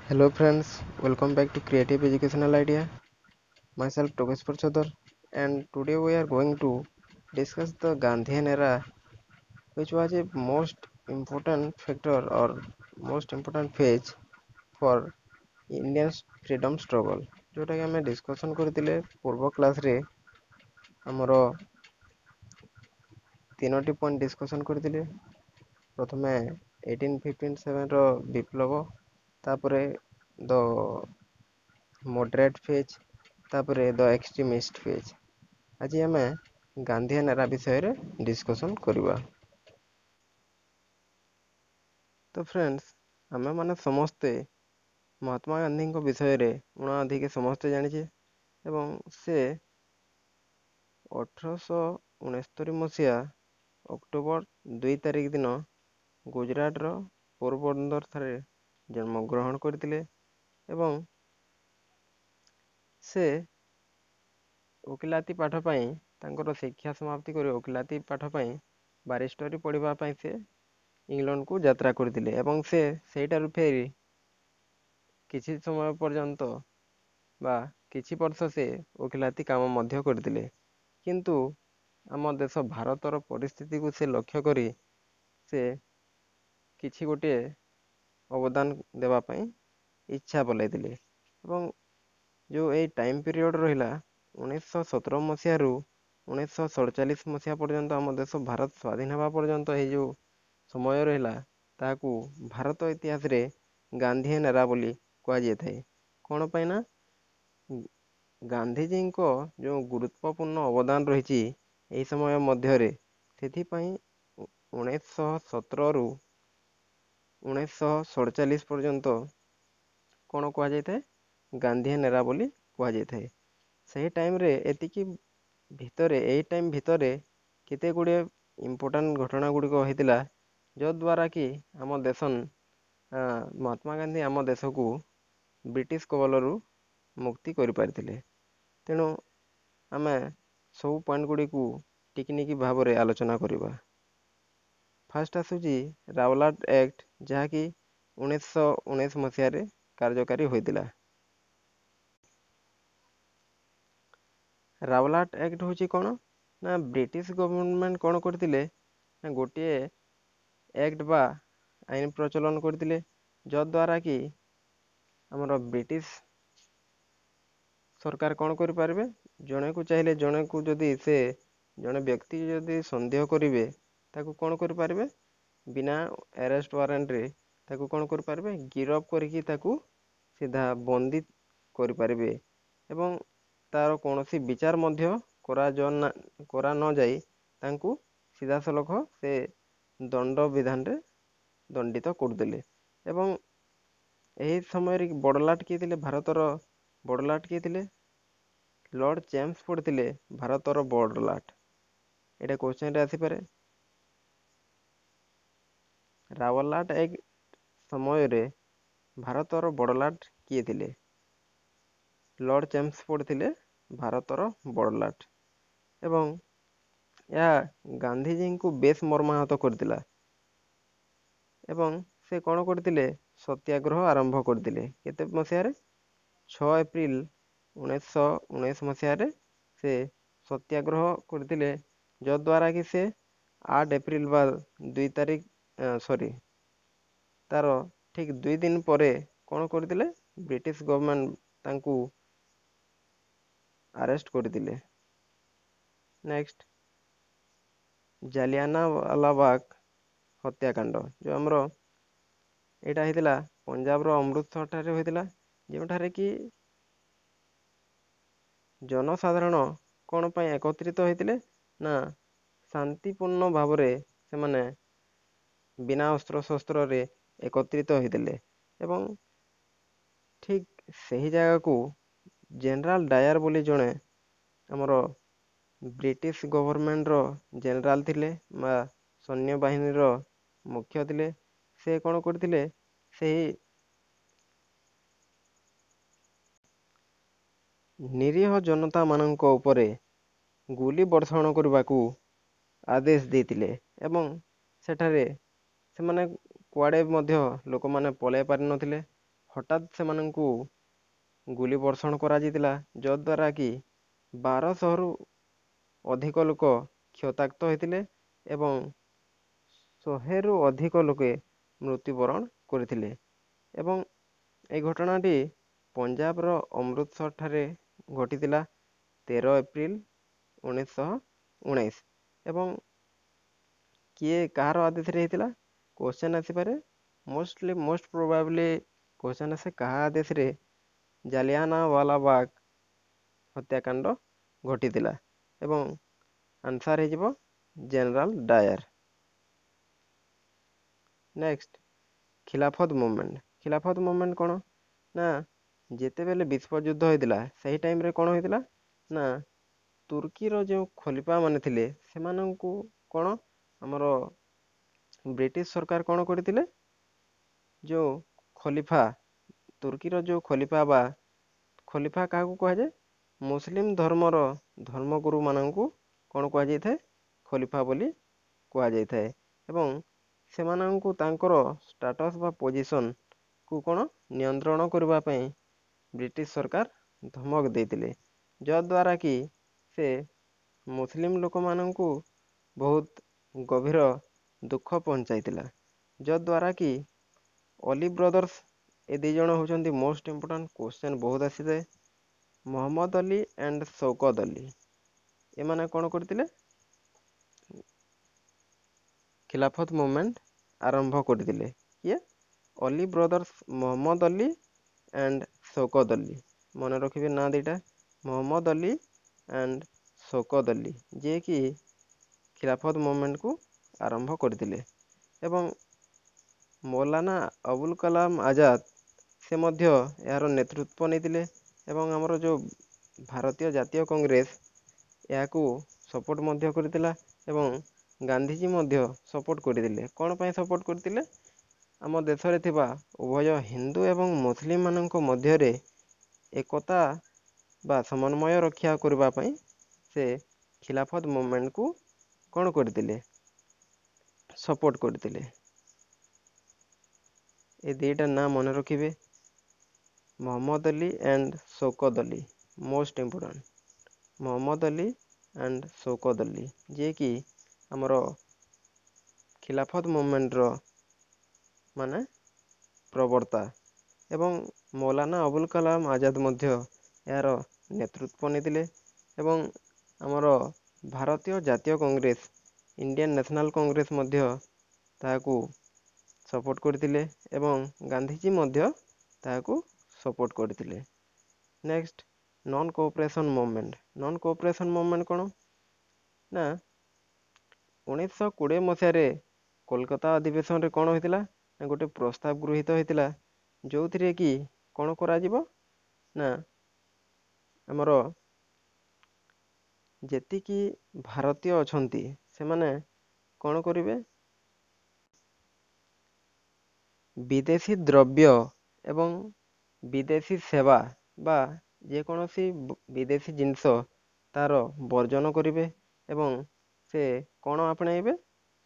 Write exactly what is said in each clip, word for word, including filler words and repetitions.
Hello friends, welcome back to Creative Educational Idea. Myself Tokeshwar Chodhar, and today we are going to discuss the Gandhian era, which was a most important factor or most important phase for Indian freedom struggle. ଯେଉଁଟାକି ଆମେ discussion କରିଥିଲେ ପୂର୍ବ କ୍ଲାସ୍ରେ, ଆମର ତିନୋଟି point discussion କରିଥିଲେ। ପ୍ରଥମେ eighteen fifty ସେଭେନର ବିପ୍ଳବ, ତାପରେ ଦ ମଡରେଟ୍ ଫେଜ୍, ତାପରେ ଦ ଏକ୍ସଟ୍ରିମିଷ୍ଟ ଫେଜ୍। ଆଜି ଆମେ ଗାନ୍ଧିଆନ ଏରା ବିଷୟରେ ଡିସ୍କସନ୍ କରିବା। ତ ଫ୍ରେଣ୍ଡସ୍, ଆମେମାନେ ସମସ୍ତେ ମହାତ୍ମା ଗାନ୍ଧୀଙ୍କ ବିଷୟରେ ଉଣା ଅଧିକେ ସମସ୍ତେ ଜାଣିଛେ, ଏବଂ ସେ ଅଠରଶହ ଉଣେସ୍ତରୀ ମସିହା ଅକ୍ଟୋବର ଦୁଇ ତାରିଖ ଦିନ ଗୁଜୁରାଟର ପୋରବନ୍ଦର ଠାରେ ଜନ୍ମଗ୍ରହଣ କରିଥିଲେ, ଏବଂ ସେ ଓକିଲାତି ପାଠ ପାଇଁ ତାଙ୍କର ଶିକ୍ଷା ସମାପ୍ତି କରି ଓକିଲାତି ପାଠ ପାଇଁ ବାରିଷ୍ଟରୀ ପଢ଼ିବା ପାଇଁ ସେ ଇଂଲଣ୍ଡକୁ ଯାତ୍ରା କରିଥିଲେ। ଏବଂ ସେ ସେଇଠାରୁ ଫେରି କିଛି ସମୟ ପର୍ଯ୍ୟନ୍ତ ବା କିଛି ବର୍ଷ ସେ ଓକିଲାତି କାମ ମଧ୍ୟ କରିଥିଲେ। କିନ୍ତୁ ଆମ ଦେଶ ଭାରତର ପରିସ୍ଥିତିକୁ ସେ ଲକ୍ଷ୍ୟ କରି ସେ କିଛି ଗୋଟିଏ ଅବଦାନ ଦେବା ପାଇଁ ଇଚ୍ଛା ବଲାଇଥିଲେ। ଏବଂ ଯେଉଁ ଏଇ ଟାଇମ୍ ପିରିୟଡ଼ ରହିଲା ଉଣେଇଶହ ସତର ମସିହାରୁ ଉଣେଇଶହ ସଡ଼ଚାଳିଶ ମସିହା ପର୍ଯ୍ୟନ୍ତ, ଆମ ଦେଶ ଭାରତ ସ୍ୱାଧୀନ ହେବା ପର୍ଯ୍ୟନ୍ତ ଏଇ ଯେଉଁ ସମୟ ରହିଲା, ତାହାକୁ ଭାରତ ଇତିହାସରେ ଗାନ୍ଧିଆନ ଏରା ବୋଲି କୁହାଯାଇଥାଏ। କ'ଣ ପାଇଁ ନା ଗାନ୍ଧିଜୀଙ୍କ ଯେଉଁ ଗୁରୁତ୍ୱପୂର୍ଣ୍ଣ ଅବଦାନ ରହିଛି ଏହି ସମୟ ମଧ୍ୟରେ, ସେଥିପାଇଁ ଉଣେଇଶହ ସତରରୁ ଉଣେଇଶହ ସଡ଼ଚାଳିଶ ପର୍ଯ୍ୟନ୍ତ କ'ଣ କୁହାଯାଇଥାଏ? ଗାନ୍ଧିଆନ ଏରା ବୋଲି କୁହାଯାଇଥାଏ। ସେହି ଟାଇମ୍ରେ ଏତିକି ଭିତରେ, ଏଇ ଟାଇମ୍ ଭିତରେ କେତେ ଗୁଡ଼ିଏ ଇମ୍ପୋର୍ଟାଣ୍ଟ ଘଟଣା ଗୁଡ଼ିକ ହେଇଥିଲା, ଯଦ୍ୱାରା କି ଆମ ଦେଶ, ମହାତ୍ମା ଗାନ୍ଧୀ ଆମ ଦେଶକୁ ବ୍ରିଟିଶ କବଳରୁ ମୁକ୍ତି କରିପାରିଥିଲେ। ତେଣୁ ଆମେ ସବୁ ପଏଣ୍ଟ ଗୁଡ଼ିକୁ ଟିକିନିକି ଭାବରେ ଆଲୋଚନା କରିବା। ଫାର୍ଷ୍ଟ ଆସୁଛି ରାୱଲାଟ ଆକ୍ଟ, ଯାହାକି ଉଣେଇଶହ ଉଣେଇଶ ମସିହାରେ କାର୍ଯ୍ୟକାରୀ ହୋଇଥିଲା। ରାୱଲାଟ ଆକ୍ଟ ହେଉଛି କ'ଣ ନା ବ୍ରିଟିଶ ଗଭର୍ଣ୍ଣମେଣ୍ଟ କ'ଣ କରିଥିଲେ ନା ଗୋଟିଏ ଆକ୍ଟ ବା ଆଇନ ପ୍ରଚଳନ କରିଥିଲେ, ଯଦ୍ୱାରା କି ଆମର ବ୍ରିଟିଶ ସରକାର କ'ଣ କରିପାରିବେ, ଜଣେକୁ ଚାହିଁଲେ ଜଣେକୁ ଯଦି ସେ ଜଣେ ବ୍ୟକ୍ତି ଯଦି ସନ୍ଦେହ କରିବେ, ତାକୁ କ'ଣ କରିପାରିବେ, ବିନା ଆରେଷ୍ଟ ୱାରେଣ୍ଟରେ ତାକୁ କ'ଣ କରିପାରିବେ, ଗିରଫ କରିକି ତାକୁ ସିଧା ବନ୍ଦୀ କରିପାରିବେ, ଏବଂ ତାର କୌଣସି ବିଚାର ମଧ୍ୟ କରା ନଯାଇ ତାଙ୍କୁ ସିଧାସଳଖ ସେ ଦଣ୍ଡ ବିଧାନରେ ଦଣ୍ଡିତ କରୁଥିଲେ। ଏବଂ ଏହି ସମୟରେ ବଡ଼ଲାଟ କିଏ ଥିଲେ? ଭାରତର ବଡ଼ଲାଟ କିଏ ଥିଲେ? ଲର୍ଡ଼ ଚେମ୍ସଫୋର୍ଡ ଥିଲେ ଭାରତର ବଡ଼ଲାଟ। ଏଇଟା କ୍ୱେଶ୍ଚନରେ ଆସିପାରେ। ରାୱଲାଟ ଆକ୍ଟ ସମୟରେ ଭାରତର ବଡ଼ଲାଟ କିଏ ଥିଲେ? ଲର୍ଡ଼ ଚେମ୍ସଫୋର୍ଡ ଥିଲେ ଭାରତର ବଡ଼ଲାଟ। ଏବଂ ଏହା ଗାନ୍ଧିଜୀଙ୍କୁ ବେଶ ମର୍ମାହତ କରିଥିଲା, ଏବଂ ସେ କ'ଣ କରିଥିଲେ? ସତ୍ୟାଗ୍ରହ ଆରମ୍ଭ କରିଥିଲେ। କେତେ ମସିହାରେ? ଛଅ ଏପ୍ରିଲ ଉଣେଇଶହ ଉଣେଇଶ ମସିହାରେ ସେ ସତ୍ୟାଗ୍ରହ କରିଥିଲେ, ଯଦ୍ୱାରା କି ସେ ଆଠ ଏପ୍ରିଲ ବା ଦୁଇ ତାରିଖ, ସରି, ତାର ଠିକ୍ ଦୁଇ ଦିନ ପରେ କ'ଣ କରିଥିଲେ? ବ୍ରିଟିଶ ଗଭର୍ଣ୍ଣମେଣ୍ଟ ତାଙ୍କୁ ଆରେଷ୍ଟ କରିଥିଲେ। ନେକ୍ସଟ, ଜାଲିଆନାୱାଲାବାଗ ହତ୍ୟାକାଣ୍ଡ, ଯେଉଁ ଆମର ଏଇଟା ହେଇଥିଲା ପଞ୍ଜାବର ଅମୃତସରଠାରେ ହୋଇଥିଲା, ଯେଉଁଠାରେ କି ଜନସାଧାରଣ କ'ଣ ପାଇଁ ଏକତ୍ରିତ ହୋଇଥିଲେ ନା ଶାନ୍ତିପୂର୍ଣ୍ଣ ଭାବରେ ସେମାନେ ବିନା ଅସ୍ତ୍ରଶସ୍ତ୍ରରେ ଏକତ୍ରିତ ହୋଇଥିଲେ। ଏବଂ ଠିକ୍ ସେହି ଜାଗାକୁ ଜେନେରାଲ ଡାୟାର ବୋଲି ଜଣେ ଆମର ବ୍ରିଟିଶ ଗଭର୍ଣ୍ଣମେଣ୍ଟର ଜେନେରାଲ ଥିଲେ ବା ସୈନ୍ୟବାହିନୀର ମୁଖ୍ୟ ଥିଲେ, ସେ କ'ଣ କରିଥିଲେ? ସେହି ନିରୀହ ଜନତାମାନଙ୍କ ଉପରେ ଗୁଲି ବର୍ଷଣ କରିବାକୁ ଆଦେଶ ଦେଇଥିଲେ, ଏବଂ ସେଠାରେ ସେମାନେ କୁଆଡ଼େ ମଧ୍ୟ ଲୋକମାନେ ପଳାଇ ପାରିନଥିଲେ। ହଠାତ୍ ସେମାନଙ୍କୁ ଗୁଳି ବର୍ଷଣ କରାଯାଇଥିଲା, ଯଦ୍ୱାରା କି ବାରଶହରୁ ଅଧିକ ଲୋକ କ୍ଷତାକ୍ତ ହୋଇଥିଲେ ଏବଂ ଶହେରୁ ଅଧିକ ଲୋକେ ମୃତ୍ୟୁବରଣ କରିଥିଲେ। ଏବଂ ଏହି ଘଟଣାଟି ପଞ୍ଜାବର ଅମୃତସର ଠାରେ ଘଟିଥିଲା ତେର ଏପ୍ରିଲ ଉଣେଇଶହ ଉଣେଇଶ। ଏବଂ କିଏ, କାହାର ଆଦେଶରେ ହେଇଥିଲା, କ୍ୱେଶ୍ଚନ୍ ଆସିପାରେ। ମୋଷ୍ଟଲି, ମୋଷ୍ଟ ପ୍ରୋବାବଲି କ୍ୱେଶ୍ଚନ୍ ଆସେ, କାହା ଆଦେଶରେ ଜାଲିଆନାୱାଲାବାଗ ହତ୍ୟାକାଣ୍ଡ ଘଟିଥିଲା? ଏବଂ ଆନ୍ସର୍ ହେଇଯିବ general Dyer. Next, Khilafat movement. Khilafat movement କ'ଣ ନା, ଯେତେବେଳେ ବିଶ୍ୱଯୁଦ୍ଧ ହେଇଥିଲା ସେହି ଟାଇମ୍ରେ କ'ଣ ହେଇଥିଲା ନା, ତୁର୍କୀର ଯେଉଁ ଖଲିଫା ମାନେ ଥିଲେ ସେମାନଙ୍କୁ କ'ଣ ଆମର ବ୍ରିଟିଶ ସରକାର କ'ଣ କରିଥିଲେ? ଯେଉଁ ଖଲିଫା, ତୁର୍କୀର ଯେଉଁ ଖଲିଫା, ବା ଖଲିଫା କାହାକୁ କୁହାଯାଏ? ମୁସଲିମ ଧର୍ମର ଧର୍ମଗୁରୁମାନଙ୍କୁ କ'ଣ କୁହାଯାଇଥାଏ? ଖଲିଫା ବୋଲି କୁହାଯାଇଥାଏ। ଏବଂ ସେମାନଙ୍କୁ ତାଙ୍କର ଷ୍ଟାଟସ୍ ବା ପୋଜିସନ୍କୁ କ'ଣ ନିୟନ୍ତ୍ରଣ କରିବା ପାଇଁ ବ୍ରିଟିଶ ସରକାର ଧମକ ଦେଇଥିଲେ, ଯଦ୍ୱାରା କି ସେ ମୁସଲିମ ଲୋକମାନଙ୍କୁ ବହୁତ ଗଭୀର ଦୁଃଖ ପହଞ୍ଚାଇଥିଲା। ଯଦ୍ୱାରା କି ଅଲି ବ୍ରଦର୍ସ, ଏ ଦୁଇ ଜଣ ହେଉଛନ୍ତି ମୋଷ୍ଟ ଇମ୍ପୋର୍ଟାଣ୍ଟ, କ୍ୱେଶ୍ଚନ୍ ବହୁତ ଆସିଥାଏ, ମହମ୍ମଦ ଅଲି ଆଣ୍ଡ ଶୌକତ ଅଲି, ଏମାନେ କ'ଣ କରିଥିଲେ? ଖିଲାଫତ ମୁଭମେଣ୍ଟ ଆରମ୍ଭ କରିଥିଲେ। କିଏ? Ali brothers, Mohammad Ali and Shaukat Ali. ମନେ ରଖିବେ ନାଁ ଦୁଇଟା, ମହମ୍ମଦ ଅଲି ଆଣ୍ଡ ଶୌକତ ଅଲି, ଯିଏକି ଖିଲାଫତ ମୁଭମେଣ୍ଟକୁ ଆରମ୍ଭ କରିଥିଲେ। ଏବଂ ମୌଲାନା ଅବୁଲ କଲାମ ଆଜାଦ, ସେ ମଧ୍ୟ ଏହାର ନେତୃତ୍ୱ ନେଇଥିଲେ। ଏବଂ ଆମର ଯେଉଁ ଭାରତୀୟ ଜାତୀୟ କଂଗ୍ରେସ ଏହାକୁ ସପୋର୍ଟ ମଧ୍ୟ କରିଥିଲା ଏବଂ ଗାନ୍ଧିଜୀ ମଧ୍ୟ ସପୋର୍ଟ କରିଥିଲେ। କ'ଣ ପାଇଁ ସପୋର୍ଟ କରିଥିଲେ? ଆମ ଦେଶରେ ଥିବା ଉଭୟ ହିନ୍ଦୁ ଏବଂ ମୁସଲିମମାନଙ୍କ ମଧ୍ୟରେ ଏକତା ବା ସମନ୍ୱୟ ରକ୍ଷା କରିବା ପାଇଁ ସେ ଖିଲାଫତ ମୁଭମେଣ୍ଟକୁ କ'ଣ କରିଥିଲେ? ସପୋର୍ଟ କରିଥିଲେ। ଏ ଦୁଇଟା ନାଁ ମନେ ରଖିବେ, Mohammad Ali and Shaukat Ali, most important, Mohammad Ali and Shaukat Ali, ଯିଏକି ଆମର ଖିଲାଫତ ମୁଭମେଣ୍ଟର ମାନେ ପ୍ରବର୍ତ୍ତା। ଏବଂ ମୌଲାନା ଅବୁଲ କଲାମ ଆଜାଦ ମଧ୍ୟ ଏହାର ନେତୃତ୍ୱ ନେଇଥିଲେ। ଏବଂ ଆମର ଭାରତୀୟ ଜାତୀୟ କଂଗ୍ରେସ, ଇଣ୍ଡିଆନ୍ ନ୍ୟାସନାଲ୍ କଂଗ୍ରେସ ମଧ୍ୟ ତାହାକୁ ସପୋର୍ଟ କରିଥିଲେ ଏବଂ ଗାନ୍ଧିଜୀ ମଧ୍ୟ ତାହାକୁ ସପୋର୍ଟ କରିଥିଲେ। Next, non cooperation movement. Non cooperation movement କ'ଣ ନା, ଉଣେଇଶହ କୋଡ଼ିଏ ମସିହାରେ କୋଲକାତା ଅଧିବେଶନରେ କ'ଣ ହୋଇଥିଲା ନା, ଗୋଟେ ପ୍ରସ୍ତାବ ଗୃହୀତ ହୋଇଥିଲା, ଯେଉଁଥିରେ କି କ'ଣ କରାଯିବ ନା, ଆମର ଯେତିକି ଭାରତୀୟ ଅଛନ୍ତି ସେମାନେ କ'ଣ କରିବେ? ବିଦେଶୀ ଦ୍ରବ୍ୟ ଏବଂ ବିଦେଶୀ ସେବା ବା ଯେକୌଣସି ବିଦେଶୀ ଜିନିଷ ତାର ବର୍ଜନ କରିବେ ଏବଂ ସେ କ'ଣ ଆପଣେଇବେ?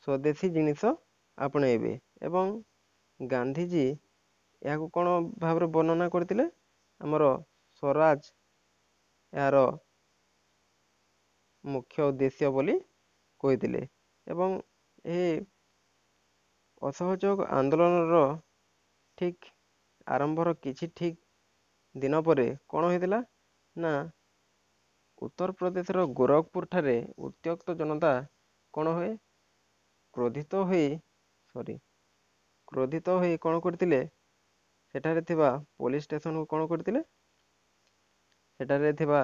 ସ୍ୱଦେଶୀ ଜିନିଷ ଆପଣେଇବେ। ଏବଂ ଗାନ୍ଧିଜୀ ଏହାକୁ କ'ଣ ଭାବରେ ବର୍ଣ୍ଣନା କରିଥିଲେ? ଆମର ସ୍ୱରାଜ ଏହାର ମୁଖ୍ୟ ଉଦ୍ଦେଶ୍ୟ ବୋଲି କହିଥିଲେ। ଏବଂ ଏହି ଅସହଯୋଗ ଆନ୍ଦୋଳନର ଠିକ୍ ଆରମ୍ଭର କିଛି ଠିକ୍ ଦିନ ପରେ କ'ଣ ହେଇଥିଲା ନା, ଉତ୍ତରପ୍ରଦେଶର ଗୋରଖପୁର ଠାରେ ଉତ୍ତ୍ୟକ୍ତ ଜନତା କ'ଣ ହୁଏ, କ୍ରୋଧିତ ହୋଇ, ସରି, କ୍ରୋଧିତ ହୋଇ କ'ଣ କରିଥିଲେ? ସେଠାରେ ଥିବା ପୋଲିସ ଷ୍ଟେସନକୁ କ'ଣ କରିଥିଲେ? ସେଠାରେ ଥିବା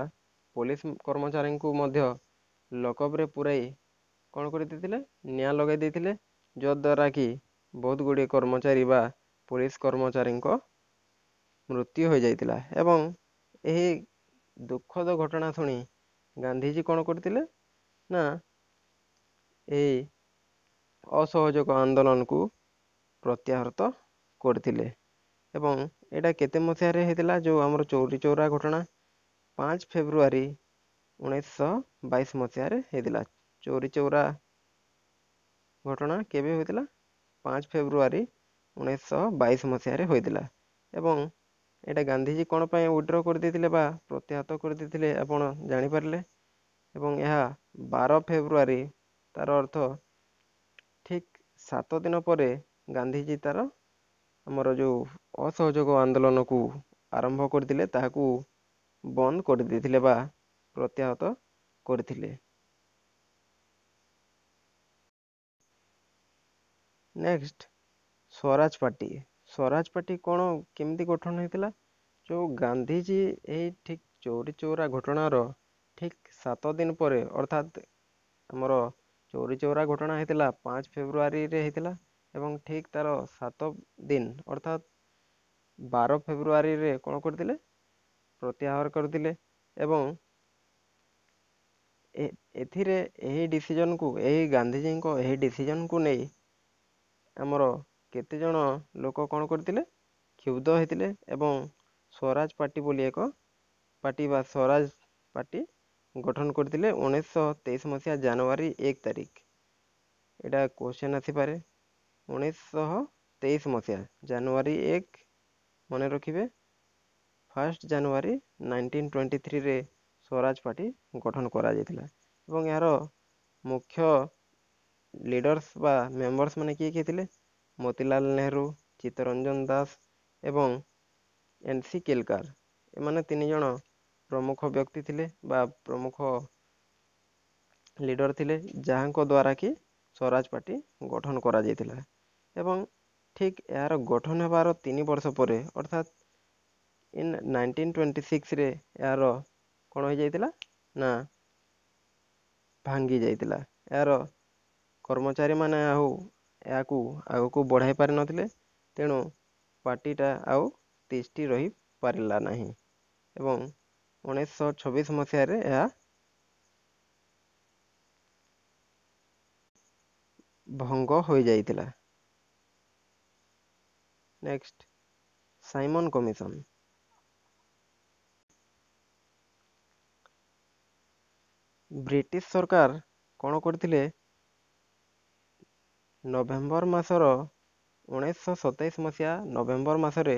ପୋଲିସ କର୍ମଚାରୀଙ୍କୁ ମଧ୍ୟ ଲକଅପ୍ରେ ପୁରାଇ କ'ଣ କରିଦେଇଥିଲେ? ନିଆଁ ଲଗାଇ ଦେଇଥିଲେ, ଯଦ୍ୱାରା କି ବହୁତ ଗୁଡ଼ିଏ କର୍ମଚାରୀ ବା ପୋଲିସ କର୍ମଚାରୀଙ୍କ ମୃତ୍ୟୁ ହୋଇଯାଇଥିଲା। ଏବଂ ଏହି ଦୁଃଖଦ ଘଟଣା ଶୁଣି ଗାନ୍ଧିଜୀ କ'ଣ କରିଥିଲେ ନା, ଏହି ଅସହଯୋଗ ଆନ୍ଦୋଳନକୁ ପ୍ରତ୍ୟାହୃତ କରିଥିଲେ। ଏବଂ ଏଇଟା କେତେ ମସିହାରେ ହେଇଥିଲା, ଯେଉଁ ଆମର ଚୌରି ଚୌରା ଘଟଣା? ପାଞ୍ଚ ଫେବୃଆରୀ ଉଣେଇଶହ ବାଇଶ ମସିହାରେ ହେଇଥିଲା। ଚୌରି ଚୌରା ଘଟଣା କେବେ ହୋଇଥିଲା? ପାଞ୍ଚ ଫେବୃଆରୀ ଉଣେଇଶହ ବାଇଶ ମସିହାରେ ହୋଇଥିଲା। ଏବଂ ଏଇଟା ଗାନ୍ଧିଜୀ କ'ଣ ପାଇଁ ୱିଡ୍ର କରିଦେଇଥିଲେ ବା ପ୍ରତ୍ୟାହତ କରିଦେଇଥିଲେ ଆପଣ ଜାଣିପାରିଲେ। ଏବଂ ଏହା ବାର ଫେବୃଆରୀ, ତାର ଅର୍ଥ ଠିକ୍ ସାତ ଦିନ ପରେ ଗାନ୍ଧିଜୀ ତାର ଆମର ଯେଉଁ ଅସହଯୋଗ ଆନ୍ଦୋଳନକୁ ଆରମ୍ଭ କରିଥିଲେ ତାହାକୁ ବନ୍ଦ କରିଦେଇଥିଲେ ବା ପ୍ରତ୍ୟାହତ କରିଥିଲେ। Next, Swaraj party. Swaraj party କ'ଣ କେମିତି ଗଠନ ହେଇଥିଲା? ଯେଉଁ ଗାନ୍ଧିଜୀ ଏହି ଠିକ୍ ଚୌରି ଚୌରା ଘଟଣାର ଠିକ୍ ସାତ ଦିନ ପରେ, ଅର୍ଥାତ୍ ଆମର ଚୌରି ଚୌରା ଘଟଣା ହେଇଥିଲା ପାଞ୍ଚ ଫେବୃଆରୀରେ ହେଇଥିଲା, ଏବଂ ଠିକ୍ ତାର ସାତ ଦିନ ଅର୍ଥାତ୍ ବାର ଫେବୃଆରୀରେ କ'ଣ କରିଥିଲେ? ପ୍ରତ୍ୟାହାର କରିଥିଲେ। ଏବଂ ଏଥିରେ ଏହି ଡିସିଜନକୁ, ଏହି ଗାନ୍ଧିଜୀଙ୍କ ଏହି ଡିସିଜନକୁ ନେଇ ଆମର କେତେଜଣ ଲୋକ କ'ଣ କରିଥିଲେ? କ୍ଷୁବ୍ଧ ହେଇଥିଲେ ଏବଂ ସ୍ୱରାଜ ପାର୍ଟି ବୋଲି ଏକ ପାର୍ଟି ବା ସ୍ୱରାଜ ପାର୍ଟି ଗଠନ କରିଥିଲେ ଉଣେଇଶହ ତେଇଶ ମସିହା ଜାନୁଆରୀ ଏକ ତାରିଖ। ଏଇଟା କ୍ୱେଶ୍ଚନ୍ ଆସିପାରେ, ଉଣେଇଶହ ତେଇଶ ମସିହା ଜାନୁଆରୀ ଏକ, ମନେ ରଖିବେ, ଫାର୍ଷ୍ଟ ଜାନୁଆରୀ ନାଇନଟିନ୍ ଟ୍ୱେଣ୍ଟି ଥ୍ରୀରେ ସ୍ୱରାଜ ପାର୍ଟି ଗଠନ କରାଯାଇଥିଲା। ଏବଂ ଏହାର ମୁଖ୍ୟ ଲିଡର୍ସ ବା ମେମ୍ବର୍ସ ମାନେ କିଏ କିଏ ଥିଲେ? ମୋତିଲାଲ ନେହେରୁ, ଚିତ୍ତରଞ୍ଜନ ଦାସ ଏବଂ ଏନ୍ ସି କେଲକାର। ଏମାନେ ତିନି ଜଣ ପ୍ରମୁଖ ବ୍ୟକ୍ତି ଥିଲେ ବା ପ୍ରମୁଖ ଲିଡର ଥିଲେ, ଯାହାଙ୍କ ଦ୍ୱାରା କି ସ୍ୱରାଜ ପାର୍ଟି ଗଠନ କରାଯାଇଥିଲା। ଏବଂ ଠିକ୍ ଏହାର ଗଠନ ହେବାର ତିନି ବର୍ଷ ପରେ ଅର୍ଥାତ୍ ଇନ୍ ନାଇନଟିନ୍ ଟ୍ୱେଣ୍ଟି ସିକ୍ସରେ ଏହାର କ'ଣ ହେଇଯାଇଥିଲା ନା ଭାଙ୍ଗି ଯାଇଥିଲା। ଏହାର କର୍ମଚାରୀମାନେ ଆଉ ଏହାକୁ ଆଗକୁ ବଢ଼ାଇ ପାରିନଥିଲେ, ତେଣୁ ପାର୍ଟିଟା ଆଉ ତିଷ୍ଠି ରହିପାରିଲା ନାହିଁ ଏବଂ ଉଣେଇଶହ ଛବିଶ ମସିହାରେ ଏହା ଭଙ୍ଗ ହୋଇଯାଇଥିଲା। Next, Simon commission. British ସରକାର କ'ଣ କରିଥିଲେ? ନଭେମ୍ବର ମାସର ଉଣେଇଶହ ସତେଇଶ ମସିହା ନଭେମ୍ବର ମାସରେ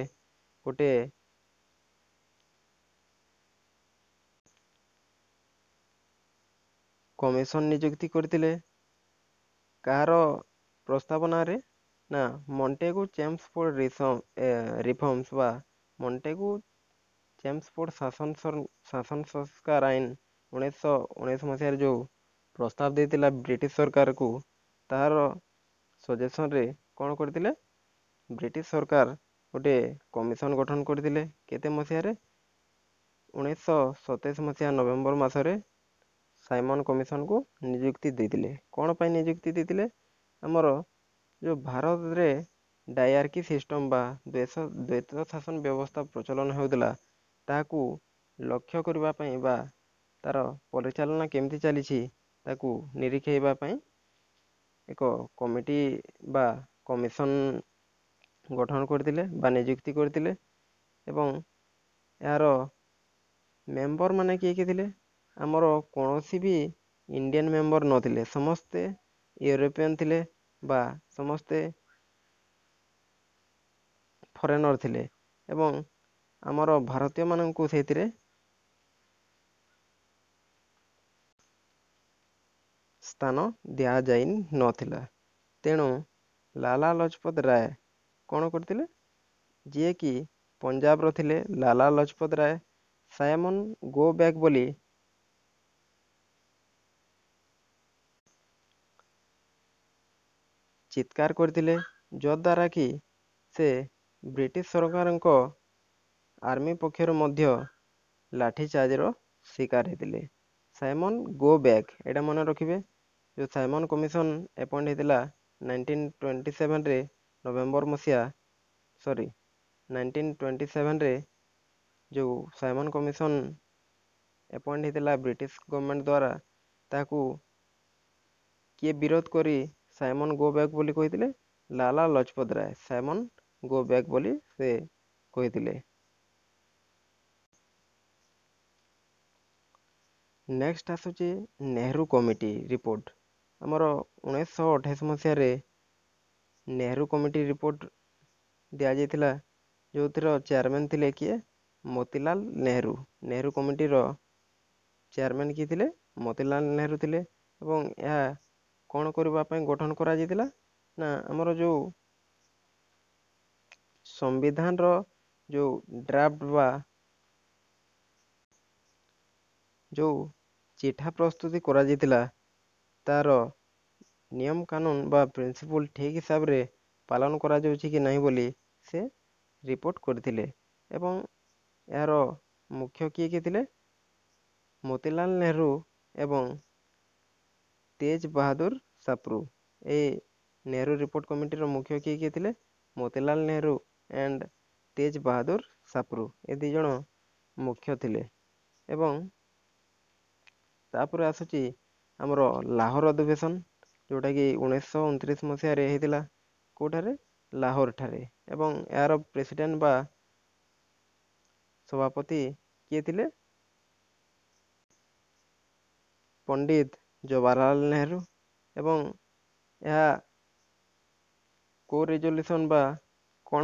ଗୋଟେ କମିଶନ ନିଯୁକ୍ତି କରିଥିଲେ। କାହାର ପ୍ରସ୍ତାବନାରେ? ନା ମଣ୍ଟେଗୁ ଚେମ୍ସଫୋର୍ଡ ରିଫର୍ମସ ବା ମଣ୍ଟେଗୁ ଚେମ୍ସଫୋର୍ଡ ଶାସନ ଶାସନ ସଂସ୍କାର ଆଇନ ଉଣେଇଶହ ଉଣେଇଶ ମସିହାରେ ଯେଉଁ ପ୍ରସ୍ତାବ ଦେଇଥିଲା ବ୍ରିଟିଶ ସରକାରକୁ, ତାହାର ସଜେସନରେ କ'ଣ କରିଥିଲେ? ବ୍ରିଟିଶ ସରକାର ଗୋଟେ କମିଶନ ଗଠନ କରିଥିଲେ। କେତେ ମସିହାରେ? ଉଣେଇଶହ ସତେଇଶ ମସିହା ନଭେମ୍ବର ମାସରେ ସାଇମନ କମିଶନକୁ ନିଯୁକ୍ତି ଦେଇଥିଲେ। କ'ଣ ପାଇଁ ନିଯୁକ୍ତି ଦେଇଥିଲେ? ଆମର ଯେଉଁ ଭାରତରେ ଡାଇଆର୍କି ସିଷ୍ଟମ୍ ବା ଦ୍ୱୈତ ଶାସନ ବ୍ୟବସ୍ଥା ପ୍ରଚଳନ ହେଉଥିଲା, ତାହାକୁ ଲକ୍ଷ୍ୟ କରିବା ପାଇଁ ବା ତାର ପରିଚାଳନା କେମିତି ଚାଲିଛି ତାକୁ ନିରୀକ୍ଷେଇବା ପାଇଁ ଏକ କମିଟି ବା କମିଶନ ଗଠନ କରିଥିଲେ ବା ନିଯୁକ୍ତି କରିଥିଲେ। ଏବଂ ଏହାର ମେମ୍ବର ମାନେ କିଏ କିଏ ଥିଲେ? ଆମର କୌଣସି ବି ଇଣ୍ଡିଆନ୍ ମେମ୍ବର ନଥିଲେ, ସମସ୍ତେ ୟୁରୋପିଆନ୍ ଥିଲେ ବା ସମସ୍ତେ ଫରେନର୍ ଥିଲେ। ଏବଂ ଆମର ଭାରତୀୟମାନଙ୍କୁ ସେଇଥିରେ ସ୍ଥାନ ଦିଆଯାଇ ନଥିଲା। ତେଣୁ ଲାଲା ଲଜପତ ରାୟ କ'ଣ କରିଥିଲେ? ଯିଏକି ପଞ୍ଜାବର ଥିଲେ ଲାଲା ଲଜପତ ରାୟ, ସାଇମନ ଗୋ ବ୍ୟାକ୍ ବୋଲି ଚିତ୍କାର କରିଥିଲେ, ଯଦ୍ୱାରା କି ସେ ବ୍ରିଟିଶ ସରକାରଙ୍କ ଆର୍ମି ପକ୍ଷରୁ ମଧ୍ୟ ଲାଠି ଚାର୍ଜର ଶିକାର ହେଇଥିଲେ। ସାଇମନ ଗୋ ବ୍ୟାକ୍, ଏଇଟା ମନେ ରଖିବେ। ଯେଉଁ ସାଇମନ କମିଶନ ଆପଏଣ୍ଟ ହେଇଥିଲା ନାଇନଟିନ୍ ଟ୍ୱେଣ୍ଟି ସେଭେନରେ ନଭେମ୍ବର ମସିହା, ସରି ନାଇନଟିନ୍ ଟ୍ୱେଣ୍ଟି ସେଭେନରେ ଯେଉଁ ସାଇମନ କମିଶନ ଆପଏଣ୍ଟ ହେଇଥିଲା ବ୍ରିଟିଶ ଗଭର୍ଣ୍ଣମେଣ୍ଟ ଦ୍ୱାରା, ତାହାକୁ କିଏ ବିରୋଧ କରି ସାଇମନ ଗୋ ବ୍ୟାକ୍ ବୋଲି କହିଥିଲେ? ଲାଲା ଲଜପତ ରାୟ ସାଇମନ ଗୋ ବ୍ୟାକ୍ ବୋଲି ସେ କହିଥିଲେ। ନେକ୍ସଟ ଆସୁଛି ନେହେରୁ କମିଟି ରିପୋର୍ଟ। ଆମର ଉଣେଇଶହ ଅଠେଇଶ ମସିହାରେ ନେହେରୁ କମିଟି ରିପୋର୍ଟ ଦିଆଯାଇଥିଲା। ଯେଉଁଥିର ଚେୟାରମ୍ୟାନ୍ ଥିଲେ କିଏ? ମୋତିଲାଲ ନେହେରୁ। ନେହେରୁ କମିଟିର ଚେୟାରମ୍ୟାନ୍ କିଏ ଥିଲେ? ମୋତିଲାଲ ନେହେରୁ ଥିଲେ। ଏବଂ ଏହା କ'ଣ କରିବା ପାଇଁ ଗଠନ କରାଯାଇଥିଲା ନା, ଆମର ଯେଉଁ ସମ୍ବିଧାନର ଯେଉଁ ଡ୍ରାଫ୍ଟ ବା ଯେଉଁ ଚିଠା ପ୍ରସ୍ତୁତି କରାଯାଇଥିଲା, ତା'ର ନିୟମ କାନୁନ ବା ପ୍ରିନ୍ସିପୁଲ୍ ଠିକ୍ ହିସାବରେ ପାଳନ କରାଯାଉଛି କି ନାହିଁ ବୋଲି ସେ ରିପୋର୍ଟ କରିଥିଲେ। ଏବଂ ଏହାର ମୁଖ୍ୟ କିଏ କିଏ ଥିଲେ? ମୋତିଲାଲ ନେହେରୁ ଏବଂ ତେଜ ବାହାଦୁର ସାପ୍ରୁ। ଏଇ ନେହେରୁ ରିପୋର୍ଟ କମିଟିର ମୁଖ୍ୟ କିଏ କିଏ ଥିଲେ? ମୋତିଲାଲ ନେହେରୁ ଆଣ୍ଡ ତେଜ ବାହାଦୁର ସାପ୍ରୁ, ଏ ଦୁଇ ଜଣ ମୁଖ୍ୟ ଥିଲେ। ଏବଂ ତାପରେ ଆସୁଛି ଆମର ଲାହୋର ଅଧିବେଶନ, ଯେଉଁଟାକି ଉଣେଇଶହ ଅଣତିରିଶ ମସିହାରେ ହେଇଥିଲା। କେଉଁଠାରେ? ଲାହୋର ଠାରେ। ଏବଂ ଏହାର ପ୍ରେସିଡେଣ୍ଟ ବା ସଭାପତି କିଏ ଥିଲେ? ପଣ୍ଡିତ ଜବାହରଲାଲ ନେହେରୁ। ଏବଂ ଏହା କେଉଁ ରେଜଲ୍ୟୁସନ୍ ବା କ'ଣ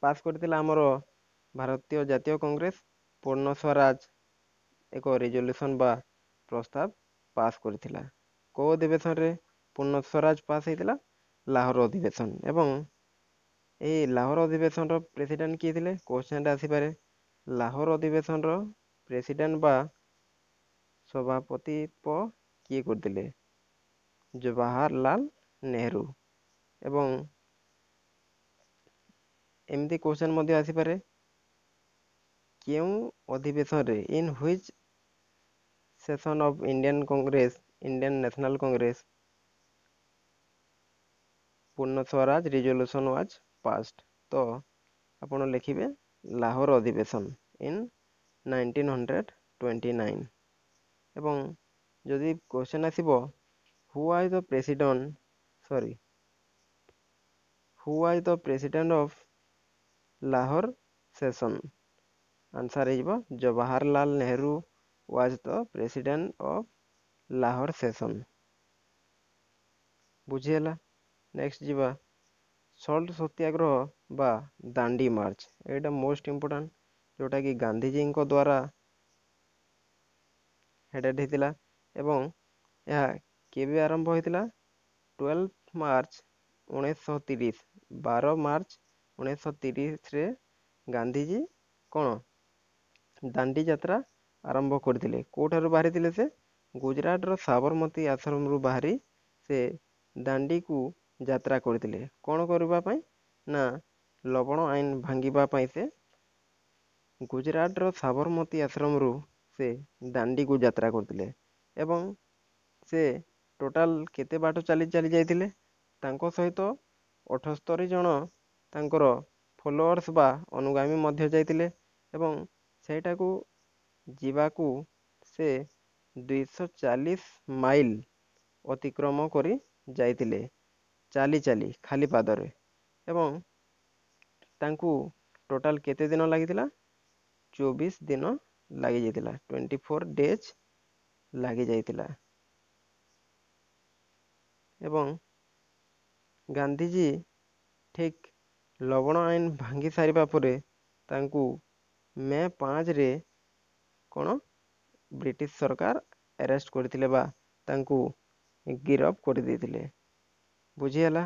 ପାସ୍ କରିଥିଲା ଆମର ଭାରତୀୟ ଜାତୀୟ କଂଗ୍ରେସ? ପୂର୍ଣ୍ଣ ସ୍ୱରାଜ ଏକ ରେଜଲ୍ୟୁସନ୍ ବା ପ୍ରସ୍ତାବ ପାସ୍ କରିଥିଲା। କେଉଁ ଅଧିବେଶନରେ ପୂର୍ଣ୍ଣ ସ୍ୱରାଜ ପାସ୍ ହେଇଥିଲା? ଲାହୋର ଅଧିବେଶନ। ଏବଂ ଏହି ଲାହୋର ଅଧିବେଶନର ପ୍ରେସିଡେଣ୍ଟ କିଏ ଥିଲେ? କ୍ୱେଶ୍ଚନଟା ଆସିପାରେ, ଲାହୋର ଅଧିବେଶନର ପ୍ରେସିଡେଣ୍ଟ ବା ସଭାପତିତ୍ୱ କିଏ କରିଥିଲେ? ଜବାହରଲାଲ ନେହେରୁ। ଏବଂ ଏମିତି କ୍ୱେଶ୍ଚନ ମଧ୍ୟ ଆସିପାରେ, କେଉଁ ଅଧିବେଶନରେ, in which session of Indian Congress, Indian National Congress, Purna Swaraj resolution was passed? ତ ଆପଣ ଲେଖିବେ ଲାହୋର ଅଧିବେଶନ in nineteen hundred twenty nine. ଏବଂ ଯଦି କ୍ୱେଶ୍ଚନ୍ ଆସିବ, who was the president, sorry, who was the president of Lahore session, answer ହେଇଯିବ Jawaharlal Nehru was the president of Lahore session. ବୁଝିହେଲା? Next ଯିବା ସଲ୍ଟ ସତ୍ୟାଗ୍ରହ ବା ଦାଣ୍ଡି ମାର୍ଚ୍ଚ। ଏଇଟା ମୋଷ୍ଟ ଇମ୍ପୋର୍ଟାଣ୍ଟ, ଯେଉଁଟାକି ଗାନ୍ଧିଜୀଙ୍କ ଦ୍ୱାରା ହେଡ଼େଡ଼ ହେଇଥିଲା। ଏବଂ ଏହା କେବେ ଆରମ୍ଭ ହୋଇଥିଲା? ଟୁଏଲ୍ଭ ମାର୍ଚ୍ଚ ଉଣେଇଶହ ତିରିଶ। ବାର ମାର୍ଚ୍ଚ ଉଣେଇଶହ ତିରିଶରେ ଗାନ୍ଧିଜୀ କ'ଣ ଦାଣ୍ଡି ଯାତ୍ରା ଆରମ୍ଭ କରିଥିଲେ। କେଉଁଠାରୁ ବାହାରିଥିଲେ ସେ? ଗୁଜରାଟର ସାବରମତୀ ଆଶ୍ରମରୁ ବାହାରି ସେ ଦାଣ୍ଡିକୁ ଯାତ୍ରା କରିଥିଲେ। କ'ଣ କରିବା ପାଇଁ ନା, ଲବଣ ଆଇନ ଭାଙ୍ଗିବା ପାଇଁ ସେ ଗୁଜରାଟର ସାବରମତୀ ଆଶ୍ରମରୁ ସେ ଦାଣ୍ଡିକୁ ଯାତ୍ରା କରିଥିଲେ। ଏବଂ ସେ ଟୋଟାଲ କେତେ ବାଟ ଚାଲି ଚାଲି ଯାଇଥିଲେ? ତାଙ୍କ ସହିତ ଅଠସ୍ତରୀ ଜଣ ତାଙ୍କର ଫଲୋଅର୍ସ ବା ଅନୁଗାମୀ ମଧ୍ୟ ଯାଇଥିଲେ। ଏବଂ ସେଇଟାକୁ ଯିବାକୁ ସେ ଦୁଇଶହ ଚାଳିଶ ମାଇଲ ଅତିକ୍ରମ କରି ଯାଇଥିଲେ ଚାଲି ଚାଲି, ଖାଲି ପାଦରେ। ଏବଂ ତାଙ୍କୁ ଟୋଟାଲ କେତେ ଦିନ ଲାଗିଥିଲା? ଚବିଶ ଦିନ ଲାଗିଯାଇଥିଲା, ଟ୍ୱେଣ୍ଟି ଫୋର୍ ଡେଜ୍ ଲାଗିଯାଇଥିଲା। ଏବଂ ଗାନ୍ଧିଜୀ ଠିକ୍ ଲବଣ ଆଇନ ଭାଙ୍ଗି ସାରିବା ପରେ ତାଙ୍କୁ ମେ ପାଞ୍ଚରେ କ'ଣ ବ୍ରିଟିଶ ସରକାର ଆରେଷ୍ଟ କରିଥିଲେ ବା ତାଙ୍କୁ ଗିରଫ କରିଦେଇଥିଲେ। ବୁଝିହେଲା?